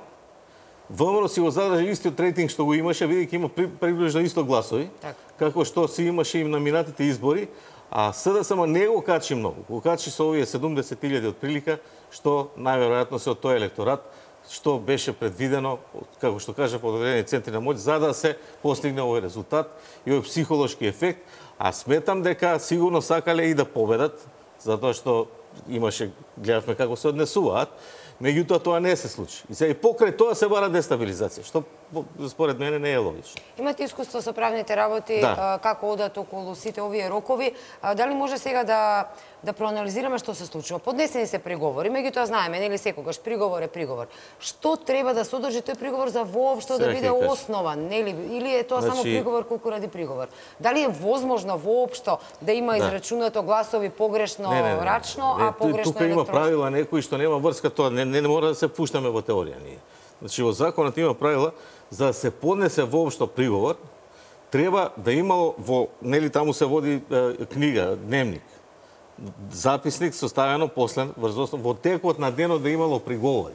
ВМРО си го задржи истиот рейтинг што го имаше, бидејќи има при, приближно исто гласови, так. Како што си имаше и на минатите избори, а СДСМ не го качи многу. Го качи со овие седумдесет илјади од прилика, што најверојатно се од тој електорат, што беше предвидено, како што кажа, по одредени центри на моќ, за да се постигне овој резултат и овој психолошки ефект, а сметам дека сигурно сакале и да победат, затоа што имаше, гледавме како се однесуваат, меѓутоа тоа не се случи. И сега и покрај тоа се бара дестабилизација, што според мене не е логично. Имате искуство со правните работи, да. Како одат околу сите овие рокови. Дали може сега да да проанализираме што се случува? Поднесени се приговори, меѓутоа знаеме, нели секогаш приговор е приговор. Што треба да содржи тој приговор за воопшто да биде основан, нели? Или е тоа значи... само приговор колку ради приговор? Дали е возможно воопшто да има да. израчунато гласови погрешно не, не, не. рачно, а погрешно тука електронско? Тука има правила некои што нема врска тоа, не, не, не мора да се пуштаме во теорија ние. Значи во законот има правила за да се поднесе воопшто приговор, треба да имало во нели таму се води е, книга, дневник, записник составено после врз основа во текот на денот да имало приговори.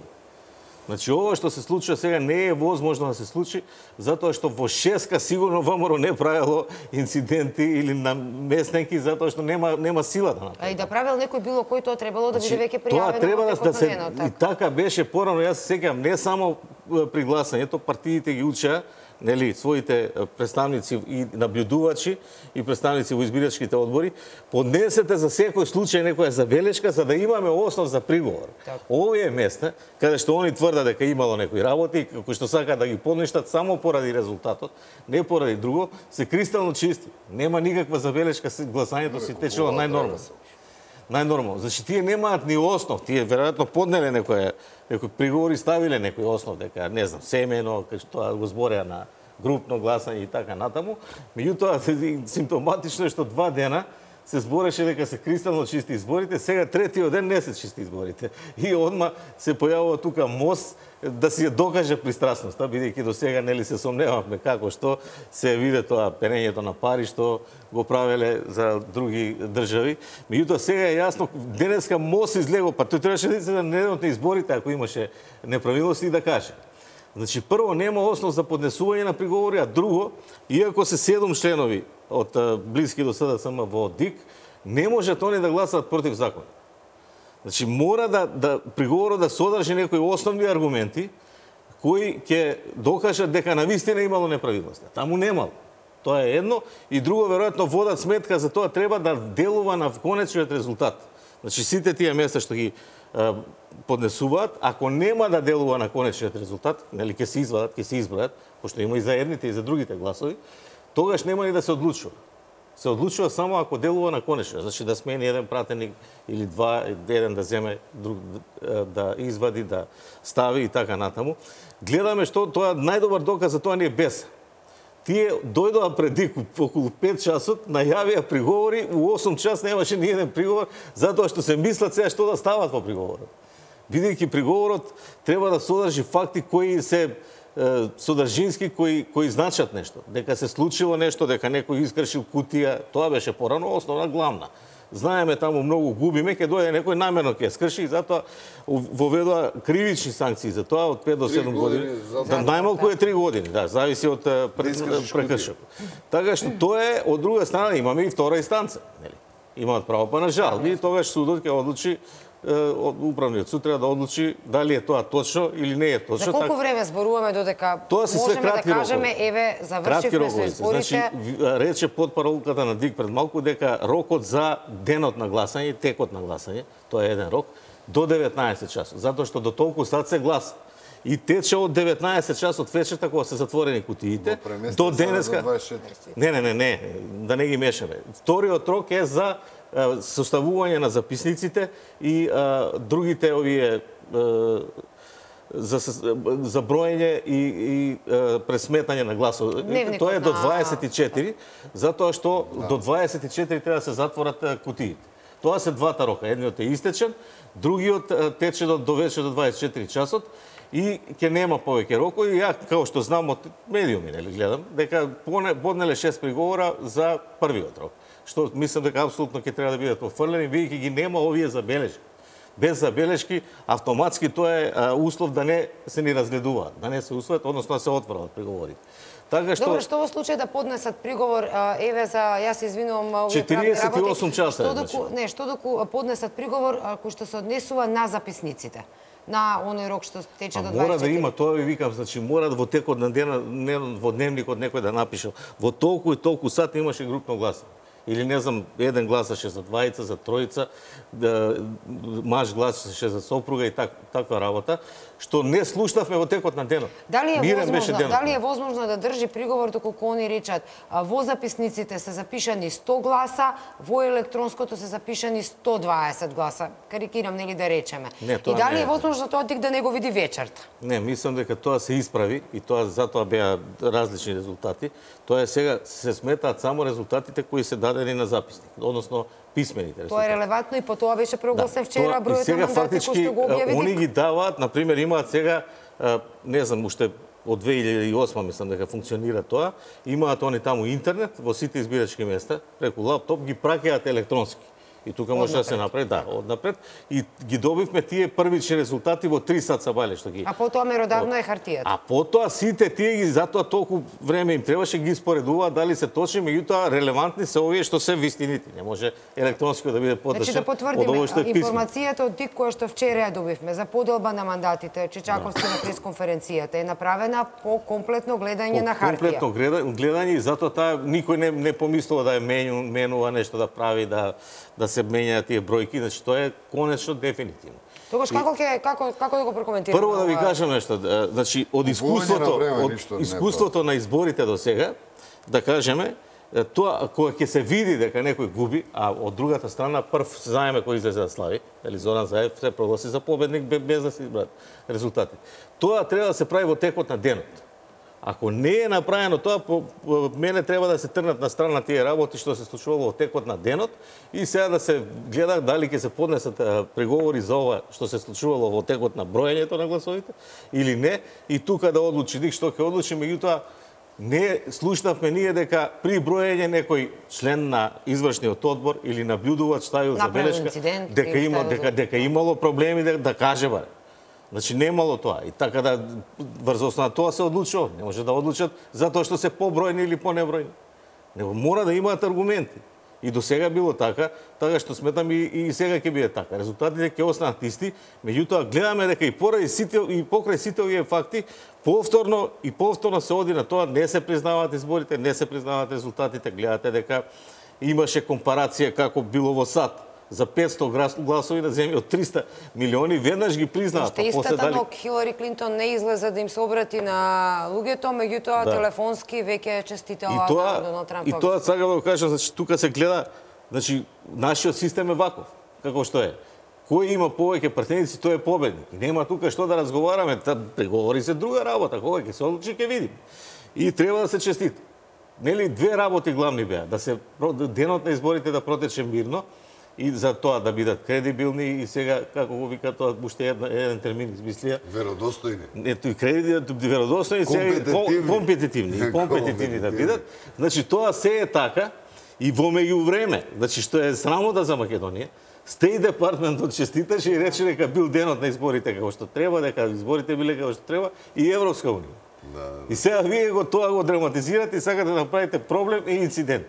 Значи, ова што се случува сега не е возможно да се случи, затоа што во Шеска сигурно ВМРО не правило инциденти или наместненки, затоа што нема нема сила да направи. А и да правил некој било кој, тоа требало да биде веќе Тоа пријавено треба во да, текот да на се денот, и така беше порано, јас се сеќавам не само при гласањето, партиите ги учеа, нели, своите представници и наблюдувачи и представници во избирачките одбори, поднесете за секој случај некоја забелешка за да имаме основ за приговор. Овие места каде што они тврдат дека имало некои работи, кои што сакаат да ги поништат само поради резултатот, не поради друго, се кристално чисти. Нема никаква забелешка, гласањето си течело најнормално. Најнормално. Значи тие немаат ни основ, тие веројатно поднеле некој некој приговор и ставиле некој основ дека не знам, семено, кај што го збореа на групно гласање и така натаму. Меѓутоа симптоматично е што два дена се збореше дека се кристално чисти изборите, сега третиот ден не се чисти изборите. И одма се појавува тука мост да си ја докаже пристрасноста, бидејќи до сега нели се сомневавме како што се виде тоа пенењето на пари што го правеле за други држави. Меѓутоа сега е јасно, денеска мост излего, па тој требаше да се на недовните изборите ако имаше неправилности и да каже. Значи, прво, нема основ за поднесување на приговори, а друго, иако се седум членови од блиски до СДСМ во ДИК, не можат они да гласат против закон. Значи, мора да, да приговорот да содржи некои основни аргументи кои ќе докажат дека навистина имало неправилности. Таму немало. Тоа е едно. И друго, веројатно, водат сметка за тоа треба да делува на конечниот резултат. Значи, сите тие места што ги поднесуваат, ако нема да делува на конечниот резултат, нели ќе се извадат, ќе се избројат, пошто има и за едните и за другите гласови, тогаш нема ни да се одлучува. Се одлучува само ако делува на конечниот, значи да смени еден пратеник или два, еден да земе, друг да извади, да стави и така натаму. Гледаме што тоа најдобар доказ за тоа не е без. Тие дојдоа преди околу пет часот, најавија приговори, у осум час немаше ни еден приговор, затоа што се мислат сега што да стават во приговорот. Бидејќи приговорот треба да содржи факти кои се е, содржински, кои, кои значат нешто. Дека се случило нешто, дека некој искршил кутија, тоа беше порано основна главна. Знаеме таму многу губиме, ќе дојде некој намерно ќе скрши и затоа воведоа кривични санкции за тоа од пет до седум години. Да, најмалку е три години, да, зависи од прекршок. Така што тоа е, од друга страна имаме и втора инстанца, нели? Имаат право па на жалби и тогаш судот ќе одлучи, управниот суд треба да одлучи дали е тоа точно или не е точно. За колку време зборуваме додека можеме да кажеме еве завршивме со изборите? Значи рече потпаролката на ДИК пред малку дека рокот за денот на гласање, текот на гласање, тоа е еден рок, до деветнаесет часот, затоа што до толку сат се гласа. И тече од деветнаесет часот вечерта кога се затворени кутиите до денеска. Не, не, не, не, да не ги мешаме. Вториот рок е за составување на записниците и а, другите овие а, за, за броење и, и а, пресметање на гласови. Тоа е до дваесет и четири, затоа што да. До дваесет и четири треба да се затворат кутиите. Тоа се двата рока. Едниот е истечен, другиот тече до, до вечер до дваесет и четири часот и ќе нема повеќе рокови. Ја, како што знам од медиуми, нели гледам, дека поднеле шест приговора за првиот рок. Што мислам дека апсолутно ќе треба да бидат офрлени, бидејќи ги нема овие забелешки. Без забелешки, автоматски тоа е а, услов да не се ни разгледуваат, да не се усвојат, односно да се отворат приговорите. Така што Добро, што во случај да поднесат приговор, еве за јас се извинувам, овие четириесет и осум часа. Што доку, не, што доку поднесат приговор кој што се однесува на записниците? На оној рок што тече до дваесет и четири. Мора да има, тоа ви викам, значи мора во текот на денот, во дневникот некој да напише во толку и толку сат имаше групно гласање. Или не знам, еден гласаше за двајца, за тројца, да, маж гласаше за сопруга и так, таква работа, што не слушнавме во текот на денот. Дали е Мирен возможно, денот. дали е возможно да држи приговор доколку они речат во записниците се запишани сто гласа, во електронското се запишани сто дваесет гласа. Карикирам, нели да речеме. Не, и дали не е возможно тоа ДИК да не го види вечерта? Не, мислам дека тоа се исправи и тоа затоа беа различни резултати. Тоа е сега се сметаат само резултатите кои се дадени на записник, односно писмените резултати. Тоа е релевантно и по тоа беше прогласен да, вчера бројот на мандати кои што го објави они ги даваат, на пример, имаат сега, не знам, уште од две илјади и осма мислам дека функционира тоа, имаат они таму интернет во сите избирачки места, преку лаптоп ги праќаат електронски. И тука може да се направи, да, однапред. И ги добивме тие првични резултати во три сат сабајле што ги. А потоа меродавно е хартијата. А потоа сите тие ги затоа толку време им требаше ги споредуваат дали се точни, меѓутоа релевантни се овие што се вистините. Не може електронско да биде поддржан. Значи да потврдиме информацијата од ТИК која што вчера ја добивме за поделба на мандатите, Чичаковски на пресконференцијата е направена по комплетно гледање на хартија. Комплетно гледање и затоа таа никој не не помислува да ја менува нешто да прави да да се менјаат тие бројки, значи тоа е конечно дефинитивно. Тогаш како ќе како како да го прокоментираме? Прво да ви кажам нешто, значи од искуството од искуството на изборите до сега, да кажеме, тоа кога ќе се види дека некој губи, а од другата страна прв знаеме кој излезе да слави, дали Зоран Заев се прогласи за победник без да се избрат резултати. Тоа треба да се прави во текот на денот. Ако не е направено тоа, по, по мене треба да се трнат на страна тие работи што се случувало во текот на денот и сега да се гледа дали ќе се поднесат преговори за ова што се случувало во текот на броењето на гласовите или не, и тука да одлучи ник што ќе одлучи, меѓутоа не слушнавме ние дека при броење некој член на извршниот одбор или наблюдувач ставил забелешка дека има дека дека имало проблеми да, да каже баре. Значи немало тоа и така да врз основа на тоа се одлучува. Не може да одлучат затоа што се побројни или понебројни. Него мора да имаат аргументи. И до сега било така, така што сметам и, и сега ќе биде така. Резултатите ќе останат исти, меѓутоа гледаме дека и поради сите и покрај сите овие факти повторно и повторно се оди на тоа, не се признаваат изборите, не се признаваат резултатите, гледате дека имаше компарација како било во САД за петсто гласови на земја од триста милиони, веднаш ги признаа. Што истата дали... но Хилари Клинтон не излезе да им се обрати на луѓето, меѓутоа да. телефонски веќе честитела на Доналд Трамп. И тоа сакам да го кажам, значи тука се гледа, значи нашиот систем е ваков, како што е. Кој има повеќе пратеници, тој е победник. И нема тука што да разговараме, та преговори се друга работа, кога ќе се одлучи ќе видим. И треба да се честита. Нели две работи главни беа, да се денот на изборите да протече мирно, и за тоа да бидат кредибилни и сега, како го вика тоа, уште еден, еден термин измислија. Веродостојни. Ето и кредит, веродостојни, сега компетитивни. И компетитивни да бидат. Значи, тоа се е така и во меѓувреме, значи, што е срамота за Македонија, Стеј департментот честиташе и рече дека бил денот на изборите како што треба, дека изборите биле како што треба и Европска унија. Да, да. И сега вие го тоа го драматизирате и сакате да направите проблем и инцидент.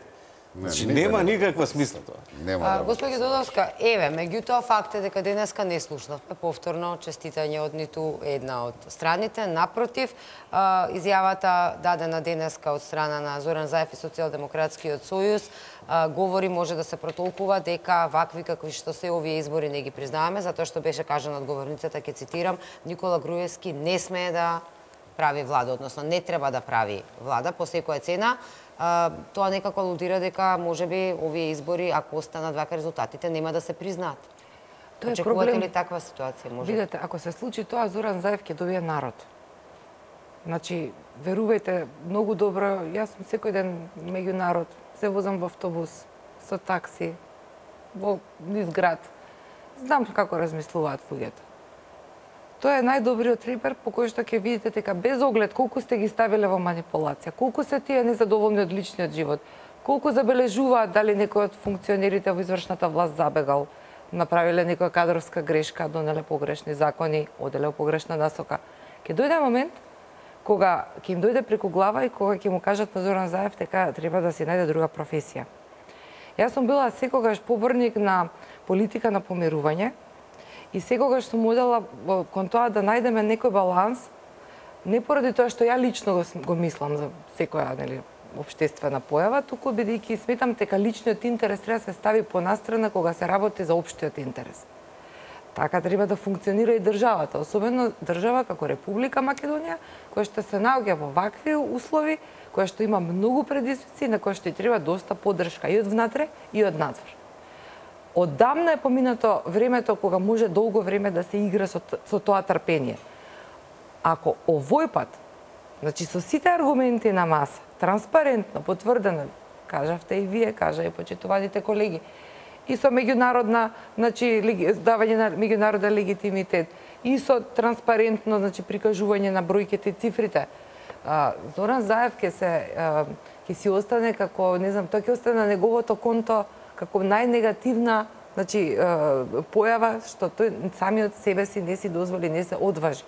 Значи, не, нема никаква смисла тоа. Нема. Господи Додовска, еве, меѓутоа факт е дека денеска не слушнавме повторно честитање од ниту една од страните. Напротив, изјавата дадена денеска од страна на Зоран Заев и Социјалдемократскиот сојуз говори, може да се протолкува дека вакви какви што се овие избори не ги признаваме, затоа што беше кажано од говорницата, ќе цитирам, Никола Груевски не смее да прави влада, односно не треба да прави влада по секоја цена. Uh, тоа некако алудира дека можеби овие избори, ако останат вака резултатите, нема да се признаат. Тоа е Очекувате проблем. ли таква ситуација? Може? Видете, ако се случи тоа, Зоран Заев ќе добие народ. Значи, верувајте, многу добро, јас сум секој ден меѓу народ, се возам во автобус, со такси, во низ град. Знам како размислуваат луѓето. Тоа е најдобриот репер по кој што ќе видите дека без оглед колку сте ги ставиле во манипулација, колку се тие незадоволни од личниот живот, колку забележуваат дали некој од функционерите во извршната власт забегал, направиле некоја кадровска грешка, донеле погрешни закони, оделе во погрешна насока. Ќе дојде момент кога ќе им дојде преку глава и кога ќе му кажат на Зоран Заев дека треба да си најде друга професија. Јас сум била секогаш поборник на политика на помирување, и секогаш сум одела кон тоа да најдеме некој баланс, не поради тоа што ја лично го, го мислам за секоја, нели, општествена појава, туку бидејќи сметам дека личниот интерес треба да се стави понастрана кога се работи за општиот интерес. Така треба да функционира и државата, особено држава како Република Македонија, која што се наоѓа во вакви услови, која што има многу предизвици, на која што и треба доста поддршка и од внатре и од надвор. Оддамна е поминато времето кога може долго време да се игра со, со тоа трпение. Ако овој пат, значи со сите аргументи на маса, транспарентно, потврдено, кажавте и вие, кажа и почитуваните колеги, и со меѓународна, значи давање на меѓународен легитимитет, и со транспарентно, значи прикажување на бројките и цифрите, Зоран Заев ќе се ќе си остане како, не знам, тоа ќе остане на неговото конто како најнегативна значи појава што тој самиот себе си не си дозволи, не се одважи.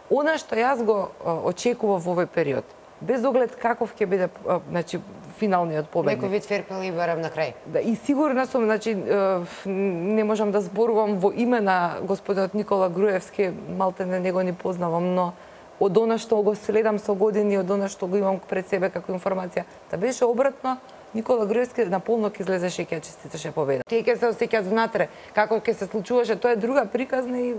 Она што јас го очекував во овој период, без оглед каков ќе биде значи финалниот победник. Некој вид ферпел и барам на крај. Да, и сигурна сум, значи не можам да зборувам во име на господинот Никола Груевски, малте не него не познавам, но од она што го следам со години, од она што го имам пред себе како информација, да беше обратно, Никола Груевски наполно ќе излезеше и ќе честиташе победа. Тие ќе се осеќаат внатре, како ќе се случуваше, тоа е друга приказна и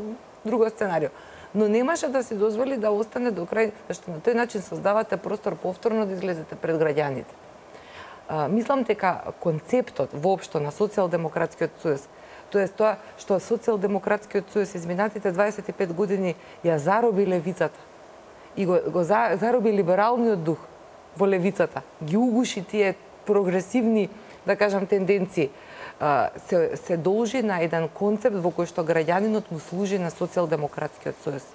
друго сценарио. Но немаше да си дозволи да остане до крај, зашто на тој начин создавате простор повторно да излезете пред граѓаните. А, мислам дека концептот воопшто на социјалдемократскиот сојуз, тоест тоа што социјалдемократскиот сојуз изминатите дваесет и пет години ја зароби левицата и го, го за, зароби либералниот дух во левицата, ги угуши тие прогресивни, да кажам, тенденции, се, се должи на еден концепт во кој што граѓанинот му служи на социјалдемократскиот сојуз.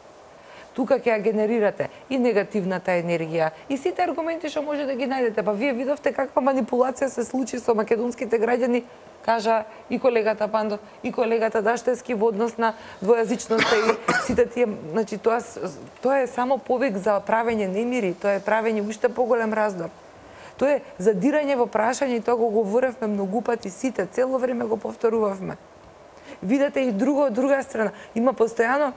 Тука ќе ја генерирате и негативната енергија, и сите аргументи што може да ги најдете. Па вие видовте каква манипулација се случи со македонските граѓани, кажа и колегата Пандов, и колегата Даштевски во однос на двојазичноста и сите тие, значи тоа тоа е само повик за правење немири, тоа е правење уште поголем раздор. Тоа е задирање во прашање и тоа го говоревме многу пати сите, цело време го повторувавме. Видете и друго од друга страна, има постојано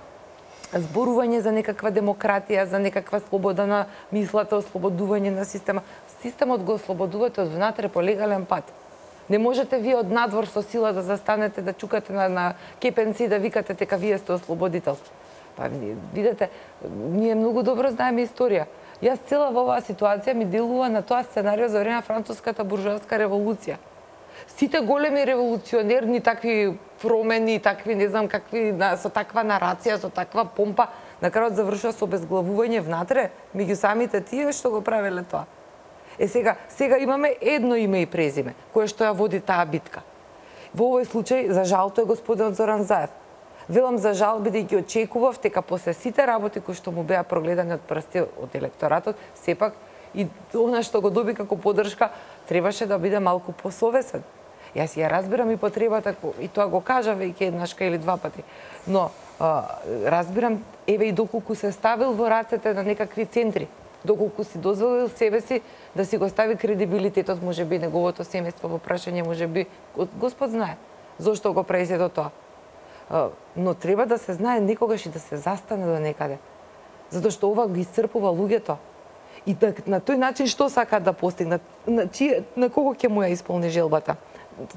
зборување за некаква демократија, за некаква слобода на мислата, ослободување на система. Системот го ослободувате од внатре по легален пат. Не можете вие од надвор со сила да застанете, да чукате на, на кепенци и да викате дека вие сте ослободител. Па видите, ние многу добро знаеме историја. Јас цела во оваа ситуација ми делува на тоа сценарио за време на француската буржоаска револуција. Сите големи револуционерни такви промени, такви не знам какви, со таква нарација, со таква помпа, на крајот завршува со обезглавување внатре меѓу самите тие што го правеле тоа. Е сега, сега имаме едно име и презиме, кое што ја води таа битка. Во овој случај, за жал, тој господинот Зоран Заев. Велам за жал, бидејќи очекував дека после сите работи кои што му беа прогледани од прсти од електоратот, сепак и она што го доби како поддршка, требаше да биде малку посовесен. Јас ја разбирам и потребата, и тоа го кажа веќе еднашка или два пати. Но а, разбирам, еве и доколку се ставил во рацете на некакви центри, доколку си дозволил себе си да си го стави кредибилитетот, можеби неговото семејство во прашање, можеби Господ знае зошто го прави сето тоа. А, но треба да се знае некогаш и да се застане до некаде. Затоа што ова ги исцрпува луѓето. И на, на тој начин што сакаат да постигнат? На, чие, на кого ќе му ја исполни желбата?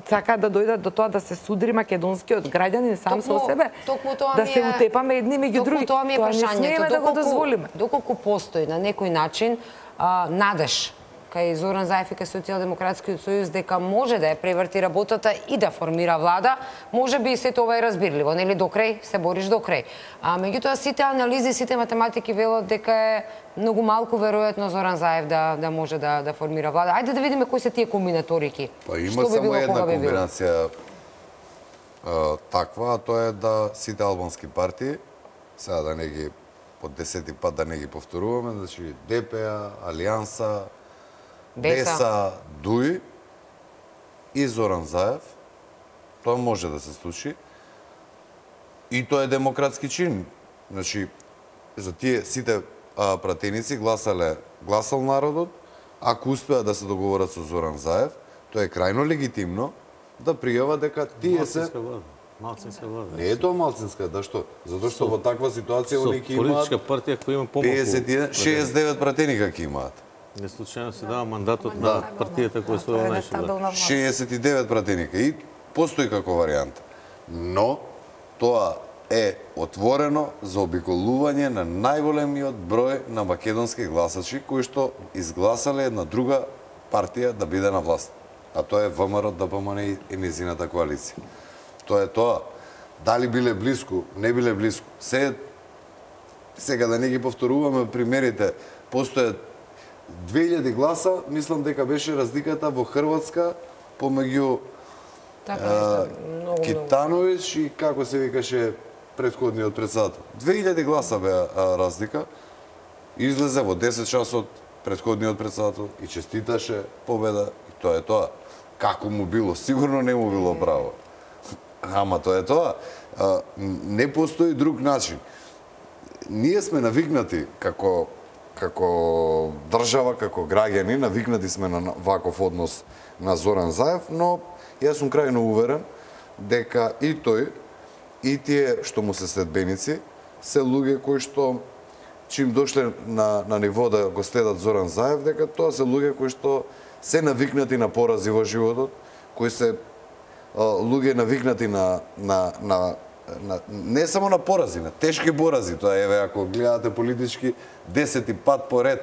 Сакаат да дојдат до тоа да се судри македонскиот граѓанин сам со себе, да се утепаме едни меѓу други. Тоа ми е прашањето, да го дозволиме. Доколку постои на некој начин а, надеж кај Зоран Заев и кај Социјалдемократскиот сојуз дека може да ја преврти работата и да формира влада, може би и сето ова е разбирливо, нели до крај се бориш до крај. А меѓутоа сите анализи, сите математики велат дека е многу малку веројатно Зоран Заев да да може да да формира влада. Ајде да видиме кои се тие комбинаторики. Па има би само било, една комбинација а, таква, а тоа е да сите албански партии, сега да не ги по десети пат да не ги повторуваме, значи Д П А, Алијанса, Деса, Дуи и Зоран Заев, тоа може да се случи. И тоа е демократски чин. Значи, за тие сите а, пратеници гласале, гласал народот, ако успеа да се договорат со Зоран Заев, тоа е крајно легитимно да пријава дека тие се... Малцинска влада. Не е тоа малцинска, да што? Затоа што во таква ситуација они ќе имаат... Политичка партија која има помалку... педесет и еден, шеесет и девет пратеника ќе имаат. Не случајно се дава мандатот на партијата која се најшо. шеесет и девет пратеника и постои како варијанта. Но тоа е отворено за обиколување на најголемиот број на македонски гласачи кои што изгласале една друга партија да биде на власт. А тоа е В М Р Д П М Н и незината коалиција. Тоа е тоа. Дали биле блиску, не биле блиску. Се, сега да не ги повторуваме примерите, постојат две илјади гласа, мислам дека беше разликата во Хрватска помеѓу така, е, Китановиќ и како се викаше претходниот председател. две илјади гласа беа разлика. Излезе во десет часот претходниот председател и честиташе победа и тоа е тоа. Како му било? Сигурно не му било право. Ама тоа е тоа. А, не постои друг начин. Ние сме навикнати како како држава, како граѓани, навикнати сме на ваков однос на Зоран Заев, но јас сум крајно уверен дека и тој, и тие што му се следбеници, се луѓе кои што чим дошле на, на ниво да го следат Зоран Заев, дека тоа се луѓе кои што се навикнати на порази во животот, кои се а, луѓе навикнати на, на, на, на не само на порази, на тешки порази. Тоа еве ако гледате политички десети пат поред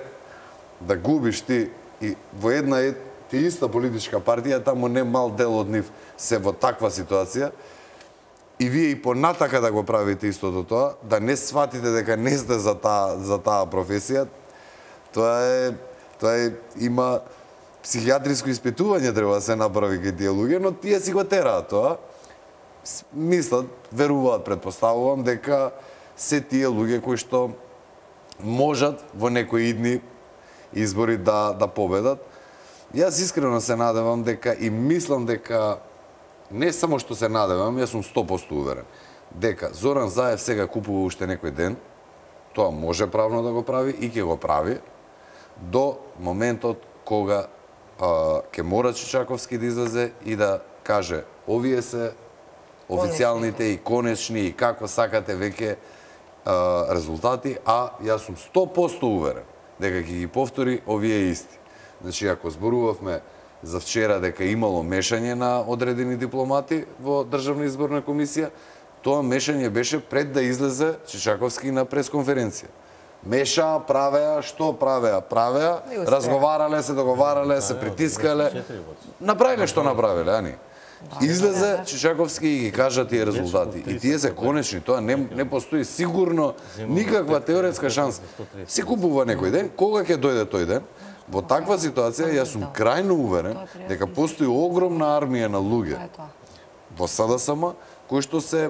да губиш ти и во една е ти иста политичка партија, таму не мал дел од нив се во таква ситуација. И вие и понатака да го правите истото тоа, да не сватите дека не сте за таа за таа професија, тоа е тоа е има психијатриско испитување треба да се направи кај тие луѓе, но тие си го тераат тоа. Мислат, веруваат, претпоставувам дека се тие луѓе кои што можат во некои идни избори да да победат. Јас искрено се надевам дека и мислам дека не само што се надевам, јас сум сто проценти уверен дека Зоран Заев сега купува уште некој ден, тоа може правно да го прави и ќе го прави до моментот кога а, ќе мора Чичаковски да излезе и да каже овие се официјалните и конечни и како сакате веќе а, резултати, а јас сум сто проценти уверен дека ќе ги повтори овие исти. Значи, ако зборувавме за вчера дека имало мешање на одредени дипломати во Државна изборна комисија, тоа мешање беше пред да излезе Чичаковски на пресконференција. Меша, правеа, што правеа? Правеа, разговарале се, договарале се, притискале, направиле што направиле, ани? Излезе Чичаковски и ги кажа тие резултати. И тие се конечни, тоа не, не постои сигурно никаква теоретска шанса. Се купува некој ден, кога ќе дојде тој ден? Во таква ситуација јас сум крајно уверен дека постои огромна армија на луѓе во СДСМ кои што се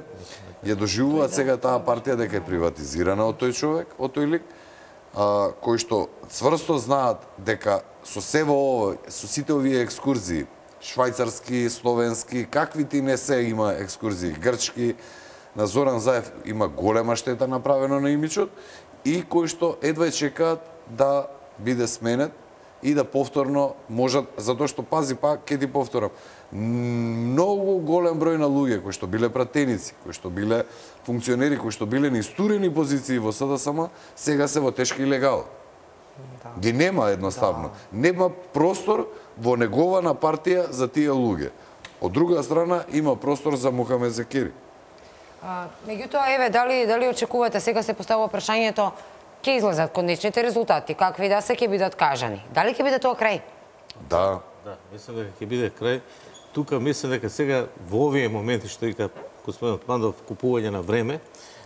ја доживуваат сега таа партија дека е приватизирана од тој човек, од тој лик, а, кои што цврсто знаат дека со се во ово, со сите овие екскурзии, швајцарски, словенски, каквити не се има екскурзии, грчки, на Зоран Заев има голема штета направено на имиджот и кои што едва чекаат да биде сменет и да повторно можат, затоа што пази пак, ќе ти повторам, многу голем број на луѓе кои што биле пратеници, кои што биле функционери, кои што биле на истурени позиции во СДСМ, сега се во тешки илегал. Да. Ги нема едноставно. Да. Нема простор во негована партија за тие луѓе. Од друга страна има простор за Мухамед Зекери. А, меѓутоа, еве, дали дали очекувате, сега се поставува прашањето, ќе излезат конечните резултати, какви да се ќе бидат кажани. Дали ќе биде тоа крај? Да. Да, мислам дека ќе биде крај. Тука мислам дека сега во овие моменти што вика господин Мандов купување на време,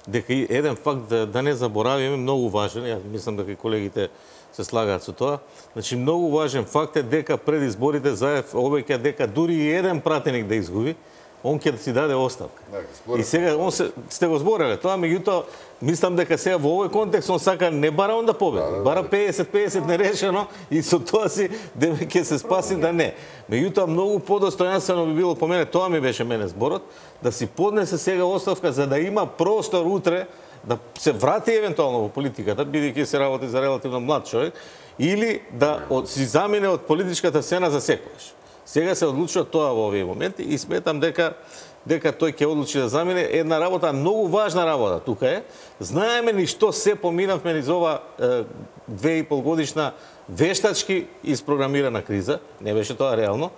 дека и еден факт да, да не заборавиме многу важен, јас мислам дека колегите се слагаат со тоа. Значи многу важен факт е дека пред изборите Заев обеќа дека дури и еден пратеник да изгуби, он ќе си даде оставка. Да, и сега он се, сте го збореле тоа, меѓутоа мислам дека сега во овој контекст он сака не бара он да победи, да, да, бара педесет педесет нерешено и со тоа си дека ќе се спаси да не. Меѓутоа многу подостојансtvено би било по мене, тоа ми беше мене зборот, да си поднесе сега оставка за да има простор утре да се врати евентуално во политиката, бидејќи се работи за релативно млад човек, или да од, си замине од политичката сцена за секогаш. Сега се одлучува тоа во овие моменти и сметам дека дека тој ќе одлучи да замине. Една работа, многу важна работа тука е. Знаеме ни што се поминавме низ ова е, две и пол годишна вештачки испрограмирана криза, не беше тоа реално,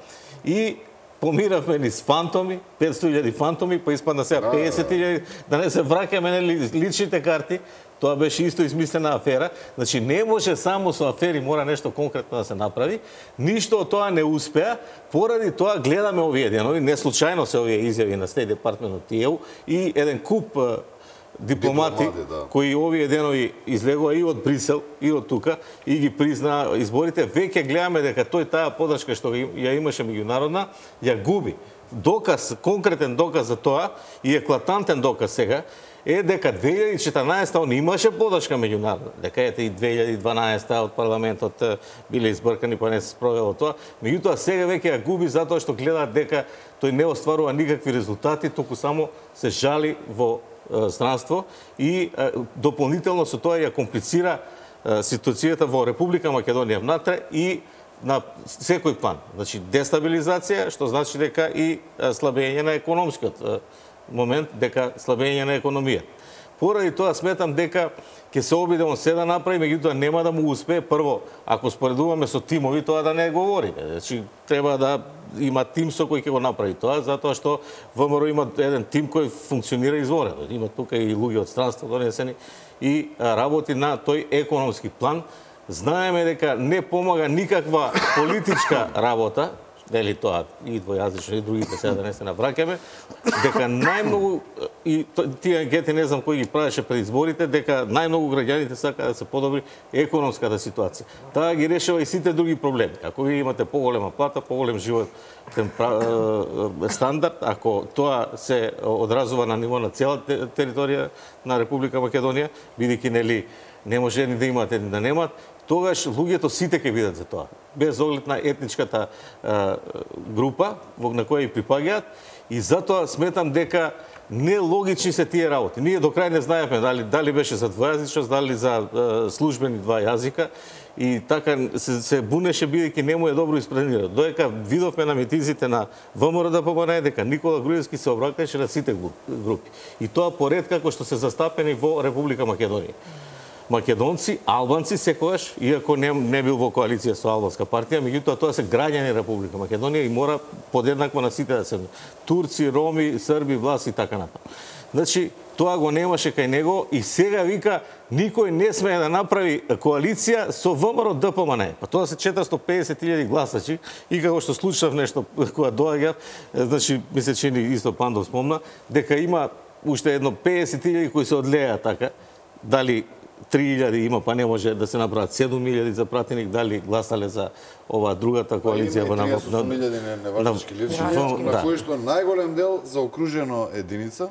и поминавме низ фантоми, петстотини илјади фантоми, па испадна сега педесет илјади, да не се враќаме на личните карти. Тоа беше исто измислена афера. Значи, не може само со афери, мора нешто конкретно да се направи. Ништо од тоа не успеа, поради тоа гледаме овие денови, не случајно се овие изјави на Стејт Департмент од ТИЕУ и еден куп дипломати, дипломати да. кои овие денови излегува и од Брисел, и од тука, и ги признаа изборите. Веќе гледаме дека тој таа подршка што ја имаше меѓународна, ја губи. Доказ, конкретен доказ за тоа и еклатантен доказ сега, е дека две илјади и четрнаесетта он имаше подршка меѓународна, дека ете и две илјади и дванаесетта од парламентот биле избркани, па не се спровело тоа. Меѓутоа сега веќе ја губи затоа што гледаат дека тој не остварува никакви резултати, туку само се жали во е, странство и е, дополнително со тоа ја комплицира е, ситуацијата во Република Македонија внатре и на секој план. Значи, дестабилизација, што значи дека и слабење на економскиот момент, дека слабење на економија. Поради тоа сметам дека ќе се обидемо се да направи, меѓутоа нема да му успее. Прво, ако споредуваме со тимови, тоа да не говори. Значи, треба да има тим со кој ќе го направи тоа, затоа што ВМРО има еден тим кој функционира изворено. Има тука и луѓе од странство донесени и работи на тој економски план. Знаеме дека не помага никаква политичка работа, дали тоа и двојазично и другите сега да не се навраќаме, дека најмногу и тие анкети не знам кој ги правеше пред изборите, дека најмногу граѓаните сака да се подобри економската ситуација. Таа ги решава и сите други проблеми. Ако ви имате поголема плата, поголем живот стандард, ако тоа се одразува на ниво на цела територија на Република Македонија, бидејќи нели не може ни да имаат, ни да немаат, тогаш луѓето сите ќе бидат за тоа, без оглед на етничката е, група на која и припаѓаат, и затоа сметам дека нелогични се тие работи. Ние до крај не знаевме дали дали беше за двојазичност, дали за е, службени два јазика, и така се, се бунеше бидејќи не му е добро испренира. Доека видовме на митинзите на ВМРО-ДПМН дека Никола Груевски се обраќаше на сите групи. И тоа поред како што се застапени во Република Македонија. Македонци, албанци секогаш, иако не, не бил во коалиција со албанска партија, меѓутоа тоа се граѓани Република Македонија и мора подеднакво на сите да се турци, роми, срби, власи и така натаму. Значи, тоа го немаше кај него и сега вика никој не смее да направи коалиција со ВМРО-ДПМН. Па тоа се четиристотини и педесет илјади гласачи и како што случав нешто кога доаѓа, значи ми се чини исто Пандов спомна, дека има уште едно педесет илјади кои се одлеа така, дали три илјади има, па не може да се направат седум илјади за пратеник, дали гласале за ова другата коалиција во на неважнички личности, на кои што најголем дел заокружено единица,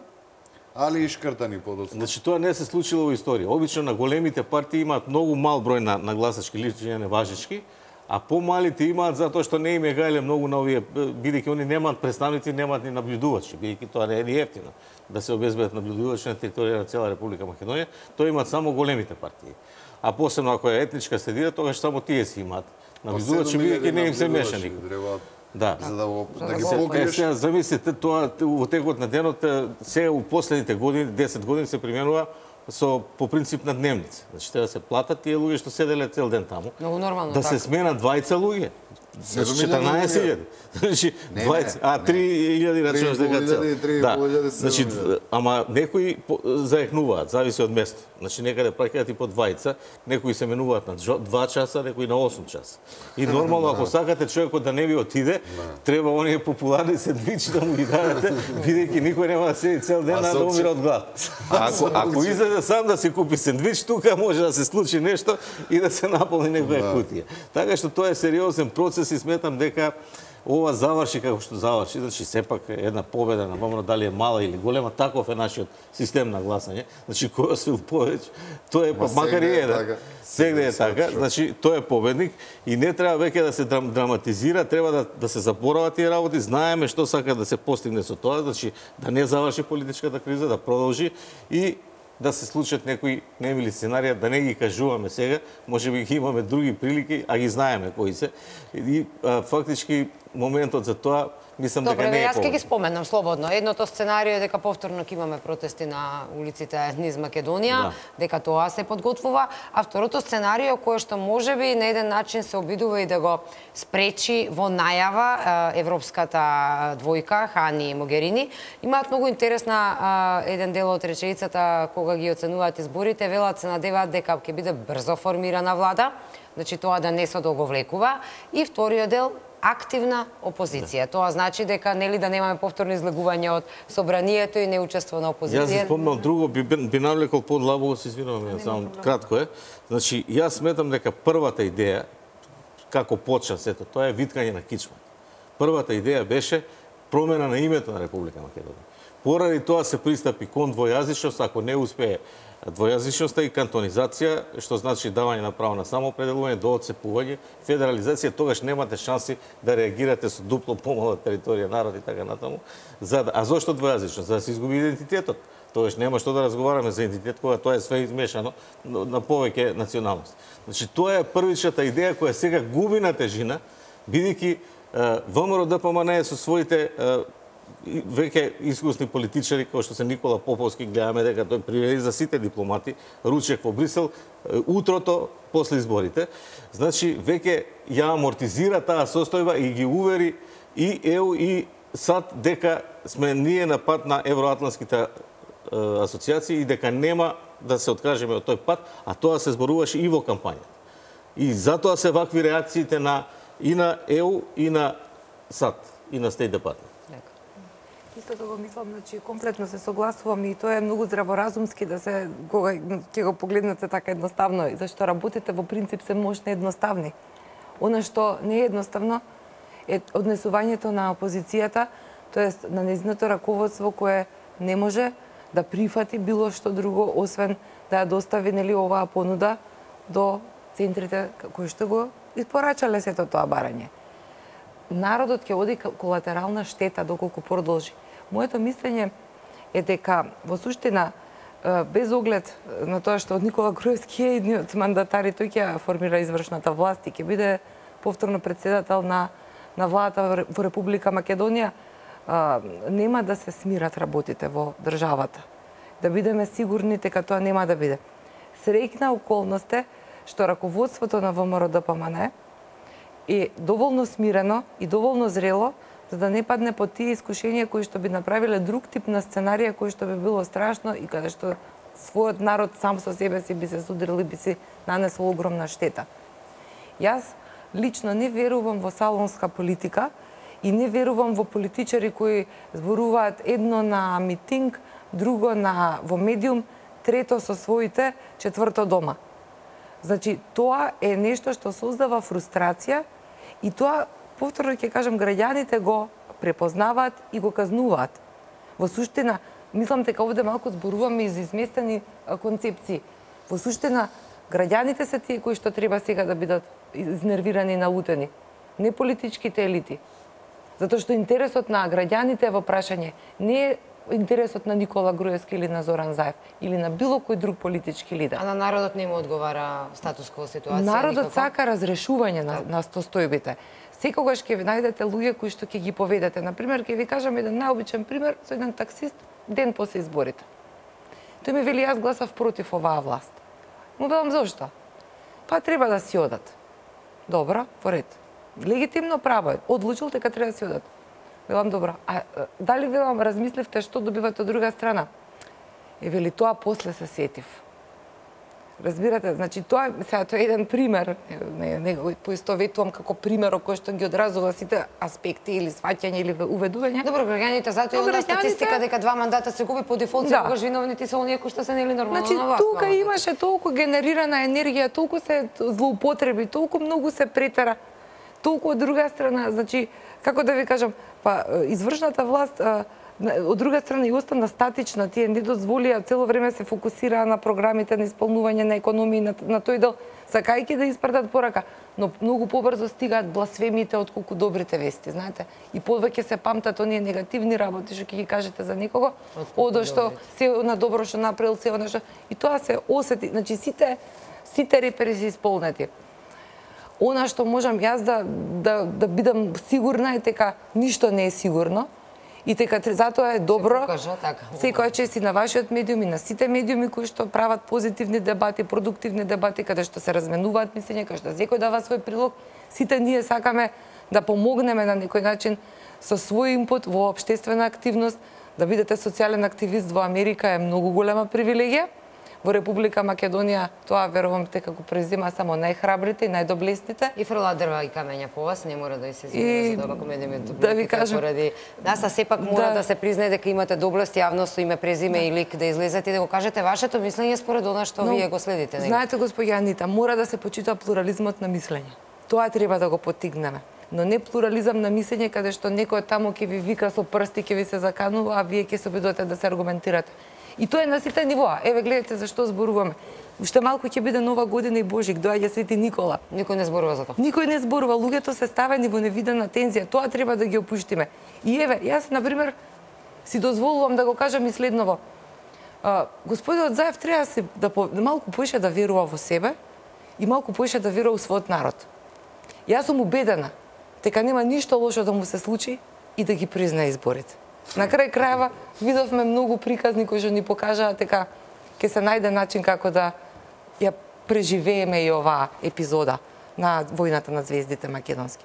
али и шкртани подоцна. Значи тоа не се случило во историја. Обично на големите партии имаат многу мал број на, на гласачки личности неважнички, а помалите имаат затоа што не им е гајле многу на овие, бидејќи они немаат представници, немаат ни наблюдувачи, бидејќи тоа не е ни ефтино да се обезбедат наблюдувачи на територија на цела Република Македонија, тоа имаат само големите партии. А посебно ако е етничка средина, тогаш само тие си имаат наблюдувачи, бидејќи не им се меша никој. Да. За да го да ги покриеш. Сега замислите тоа во текот на денот, сега у последните години, десет години се применува со по принцип на дневница. Значи треба да се платат тие луѓе што седеле цел ден таму. Многу нормално да така. се сменат двајца луѓе. четрнаесет илјади. Значи двајца, а три илјади рачунаш дека цел. Да. Значи ама некои заекнуваат, зависи од место. Значи некаде праќаат и по двајца, некои се менуваат на два часа, некои на осум часа. И нормално ако сакате човекот да не ви отиде, треба оние популарни сендвичи да му ги дадете, бидејќи никој нема да седи цел ден да умира од глад. Ако ако излезе сам да си купи сендвич, тука може да се случи нешто и да се наполни некоја кутија. Така што тоа е сериозен процес и сметам дека ова заврши како што заврши, значи сепак една победа на ВМРО, дали е мала или голема, таков е нашиот систем на гласање. Значи кој освил повеќе, тоа е па макар и еден. Сегде е така, значи тој е победник и не треба веќе да се драматизира, треба да да се заборават тие работи. Знаеме што сака да се постигне со тоа, значи да не заврши политичката криза, да продолжи и да се случат некои немили сценарија, да не ги кажуваме сега, можеби ги имаме други прилики, а ги знаеме кои се. И а, фактички моментот за тоа мислам дека не е јас ќе ги споменам слободно. Едното сценарио е дека повторно ќе имаме протести на улиците низ Македонија, да. дека тоа се подготвува, а второто сценарио кое што можеби на еден начин се обидува и да го спречи во најава европската двојка Хани и Могерини, имаат многу интересна еден дел од реченицата кога ги оценуваат изборите, велат се надеваат дека ќе биде брзо формирана влада, значи тоа да не се договлекува, и вториот дел активна опозиција. Тоа значи дека нели да немаме повторно излегување од собранието и неучество на опозиција. Јас се спомнам друго, би, би навлекол подлабоко, се извинувам, само кратко е. Значи, јас сметам дека првата идеја, како почна сето, тоа е виткање на кичма. Првата идеја беше промена на името на Република Македонија. Поради тоа се пристапи кон двојазичност, ако не успее двојазичноста и кантонизација, што значи давање на право на самоопределување до отцепување, федерализација, тогаш немате шанси да реагирате со дупло помала територија, народ и така натаму. За, а зошто двојазичност? За да се изгуби идентитетот. Тогаш нема што да разговараме за идентитет кога тоа е све измешано на повеќе националност. Значи тоа е првичната идеја која сега губи на тежина, бидејќи ВМРО Д П М Н со своите веќе искусни политичари, кои што се Никола Поповски, гледаме дека тој приведе за сите дипломати, ручек во Брисел, утрото после изборите. Значи, веќе ја амортизира таа состојба и ги увери и Е У и САД дека сме ние на пат на евроатлантските асоциации и дека нема да се откажеме од тој пат, а тоа се зборуваше и во кампањата. И затоа се вакви реакциите на и на Е У и на САД и на Стејт Департмент. Истото го мислам, значи комплетно се согласувам и тоа е многу здраворазумски да се кога ќе го погледнете така едноставно, зашто работите во принцип се можни едноставни. Она што не е едноставно е однесувањето на опозицијата, тоест на нејзиното раководство кое не може да прифати било што друго освен да ја достави нели оваа понуда до центрите кои што го испорачале сето тоа барање. Народот ќе оди колатерална штета доколку продолжи. Моето мислење е дека во суштина без оглед на тоа што од Никола Груевски е едниот мандатари, тој ќе формира извршната власт и ќе биде повторно председател на на владата во Република Македонија, а, нема да се смират работите во државата. Да бидеме сигурни дека тоа нема да биде. Среќна околност е што раководството на В М Р Д П М Н е доволно смирено и доволно зрело за да не падне под тие искушенија кои што би направиле друг тип на сценарија кој што би било страшно и каде што својот народ сам со себе си би се судрил и би си нанесол огромна штета. Јас лично не верувам во салонска политика и не верувам во политичари кои зборуваат едно на митинг, друго на во медиум, трето со своите, четврто дома. Значи, тоа е нешто што создава фрустрација и тоа, повторно ќе кажам, граѓаните го препознаваат и го казнуваат. Во суштина, мислам дека овде малку зборуваме и за изместени концепции. Во суштина, граѓаните се тие кои што треба сега да бидат изнервирани и налутени, не политичките елити. Затоа што интересот на граѓаните е во прашање, не е интересот на Никола Груевски или на Зоран Заев или на било кој друг политички лидер. А на народот не му одговара статус-кво ситуација? Народот никако? сака разрешување на, на состојбите. Секогаш ќе ви најдете луѓе кои што ќе ги поведете. Например, ќе ви кажам еден наобичен пример со еден таксист ден после изборите. Тој ми вели, јас гласав против оваа власт. Му велам зошто? Па треба да си одат. Добро, во ред. Легитимно право е. Одлучил дека треба да си одат. Велам добро. А дали велам размисливте што добивате од друга страна? Е вели тоа после се сетив. Разбирате, значи тоа сега тоа е еден пример, не не го поистоветувам како пример кој што ги одразува сите аспекти или сваќање или уведување. Добро, граѓаните затоа и онда статистика дека два мандата се губи по дефолт, да. Тогаш виновните се оние кои што се нели нормално значи, на власт. Тука имаше толку генерирана енергија, толку се злоупотреби, толку многу се претера. Толку од друга страна, значи, како да ви кажам, па извршната власт од друга страна и остана статична, тие не дозволија, цело време се фокусираа на програмите на исполнување на економија на, на тој дел, сакајќи да испратат порака, но многу побрзо стигаат бласфемите отколку добрите вести, знаете. И повеќе се памтат оние негативни работи што ќе ги кажете за некого, одо што се на добро што направил, се она што и тоа се осети, значи сите сите репери се исполнети. Она што можам јас да да да бидам сигурна е дека ништо не е сигурно. И дека затоа е добро секоја чест и на вашиот медиум и на сите медиуми кои што прават позитивни дебати, продуктивни дебати, каде што се разменуваат мислења, каде што секој дава свој прилог. Сите ние сакаме да помогнеме на некој начин со свој импут во општествена активност. Да бидете социјален активист во Америка е многу голема привилегија. Во Република Македонија тоа верувам дека го презима само најхрабрите и најдоблесните. И фрлаат дрва и камења по вас, не мора да и се извини за тоа како медиумите. Да ви кажам, поради нас, а сепак мора да, да се признае дека имате доблест јавност со име, презиме да. И лик да излезете и да го кажете вашето мислење според она што Но, вие го следите. Не? Знаете, господја Анита, мора да се почита плурализмот на мислење. Тоа треба да го поттигнеме. Но не плурализам на мислење каде што некој таму ќе ви вика со прсти, ќе ви се заканува, а вие ќе се обидувате да се аргументирате. И тоа е на сите нивоа. Еве гледате за што зборуваме. Уште малку ќе биде нова година и Божик, доаѓа Свети Никола. Никој не зборува за тоа. Никој не зборува, луѓето се ставени во невидена тензија. Тоа треба да ги опуштиме. И еве, јас на пример си дозволувам да го кажам и следново. А, господинот Заев треба се да, по, да малку поише да верува во себе и малку поише да верува во својот народ. Јас сум убедена дека нема ништо лошо да му се случи и да ги признае изборите. На крај крајава видовме многу приказни кои што ни покажаат дека ќе се најде начин како да ја преживееме и оваа епизода на војната на звездите македонски.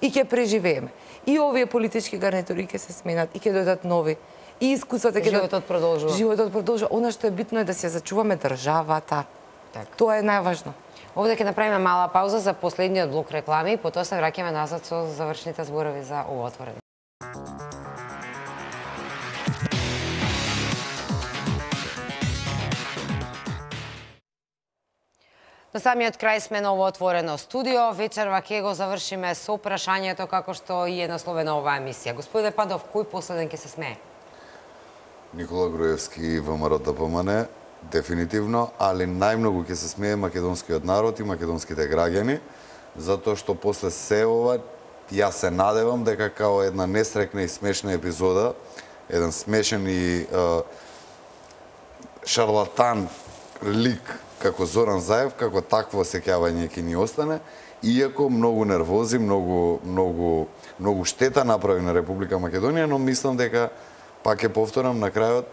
И ќе преживееме. И овие политички гарнитури ќе се сменат, и ќе дојдат нови. И искуствата ќе Животот продолжува. Животот продолжува. Она што е битно е да се зачуваме државата. Така. Тоа е најважно. Овде ќе направиме мала пауза за последниот блок реклами, потоа се враќаме назад со завршните зборови за ово отворено. На самиот крај сме на ово отворено студио. Вечерва ќе го завршиме со прашањето како што и е насловена оваа емисија. Господине Падов, кој последен ќе се смее? Никола Груевски и ВМРО да помане, дефинитивно, али најмногу ќе се смее македонскиот народ и македонските граѓани, затоа што после се ова, јас се надевам дека као една несрекна и смешна епизода, еден смешен и е, шарлатан лик како Зоран Заев, како такво осеќавање ќе ни остане, иако многу нервози, многу, многу, многу штета направи на Република Македонија, но мислам дека, пак ќе повторам на крајот,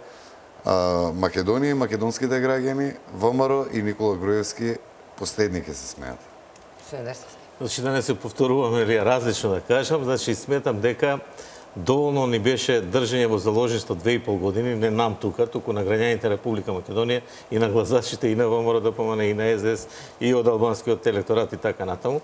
Македонија и македонските граѓани, ВМРО и Никола Груевски последни ќе се смеат. Значи да не се повторуваме или различно да кажам, значи сметам дека доволно ни беше држење во заложништво две и пол години, не нам тука, туку на граѓаните Република Македонија и на гласачите и на ВМРО да помане и на Ес Де Ес и од албанскиот електорат и така натаму.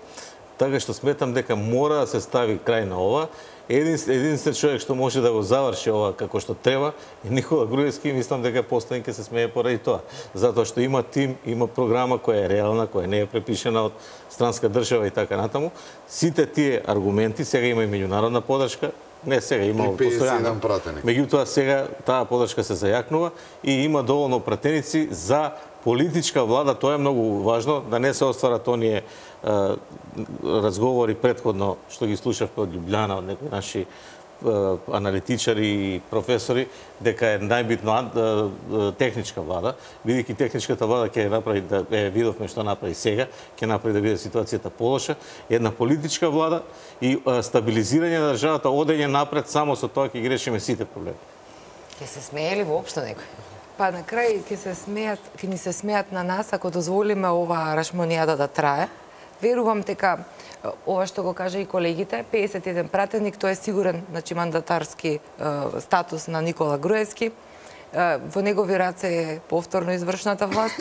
Така што сметам дека мора да се стави крај на ова. Един единствен човек што може да го заврши ова како што треба е Никола Груевски, мислам дека последен ќе се смее поради тоа. Затоа што има тим, има програма која е реална, која не е препишена од странска држава и така натаму. Сите тие аргументи, сега има и меѓународна подршка, не сега има постојано. Меѓутоа сега таа подршка се зајакнува и има доволно пратеници за политичка влада, тоа е многу важно, да не се остварат оние е, разговори предходно што ги слушавме од Љубљана, од некои наши е, аналитичари и професори, дека е најбитно е, техничка влада, бидејќи техничката влада ќе направи, да е, видовме што направи сега, ќе направи да биде ситуацијата полоша, една политичка влада и е, стабилизирање на државата, одење напред, само со тоа ќе ги решиме сите проблеми. Ќе се смее ли воопшто некој? Па на крај ќе се смеат, ќе ни се смеат на нас ако дозволиме оваа рашмонијада да трае. Верувам дека ова што го кажа и колегите, педесет и еден пратеник, тоа е сигурен, значи мандатарски е, статус на Никола Груевски. Е, во негови раце е повторно извршната власт.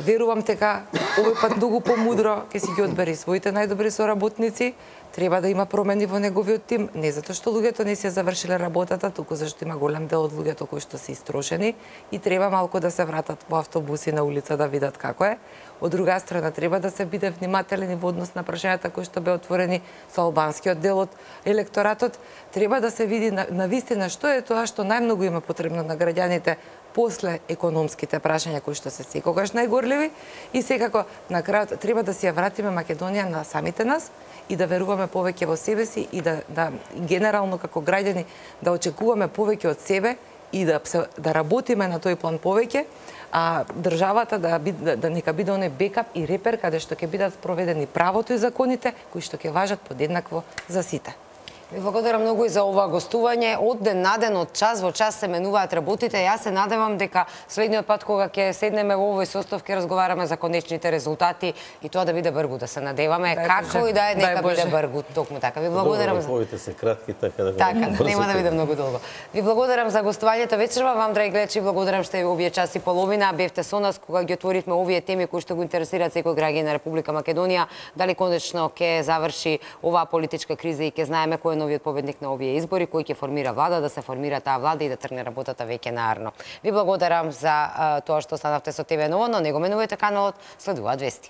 Верувам дека овој пат многу помудро ќе си ги одбери своите најдобри соработници. Треба да има промени во неговиот тим, не затоа што луѓето не се завршиле работата, туку зашто има голем дел од луѓето кои што се истрошени и треба малку да се вратат во автобуси на улица да видат како е. Од друга страна треба да се биде внимателен и во однос на прашањата кои што беа отворени со албанскиот дел од електоратот. Треба да се види на, на вистина што е тоа што најмногу има потребно на граѓаните после економските прашања кои што се секогаш најгорливи и секако на крајот треба да си ја вратиме Македонија на самите нас и да веруваме повеќе во себе си и да, да генерално како граѓани да очекуваме повеќе од себе и да да работиме на тој план повеќе, а државата да биде, да нека биде оној бекап и репер каде што ќе бидат спроведени правото и законите кои што ќе важат подеднакво за сите. Ви благодарам многу и за ова гостување. Од ден на ден, од час во час се менуваат работите. Јас се надевам дека следниот пат кога ќе седнеме во овој состав ќе разговараме за конечните резултати и тоа да биде бргу, да се надеваме. Дај Како Боже. и да е, нека Дај биде Боже. бргу, токму така. Ви благодарам за Добро, се кратки, така да Така, брзо нема да биде многу долго. Ви благодарам за гостувањето вечерва. Вам, драги гледачи, благодарам што овие час и половина бевте со нас кога ги отворивме овие теми кои што го интересираат секој граѓанин на Република Македонија. Дали конечно ќе заврши оваа политичка криза и ќе знаеме кој е новиот победник на овие избори, кој ќе формира влада, да се формира таа влада и да тргне работата веќе наарно. Ви благодарам за а, тоа што останавте со Те Ве Ново, но не го менувајте каналот, следуваат вести.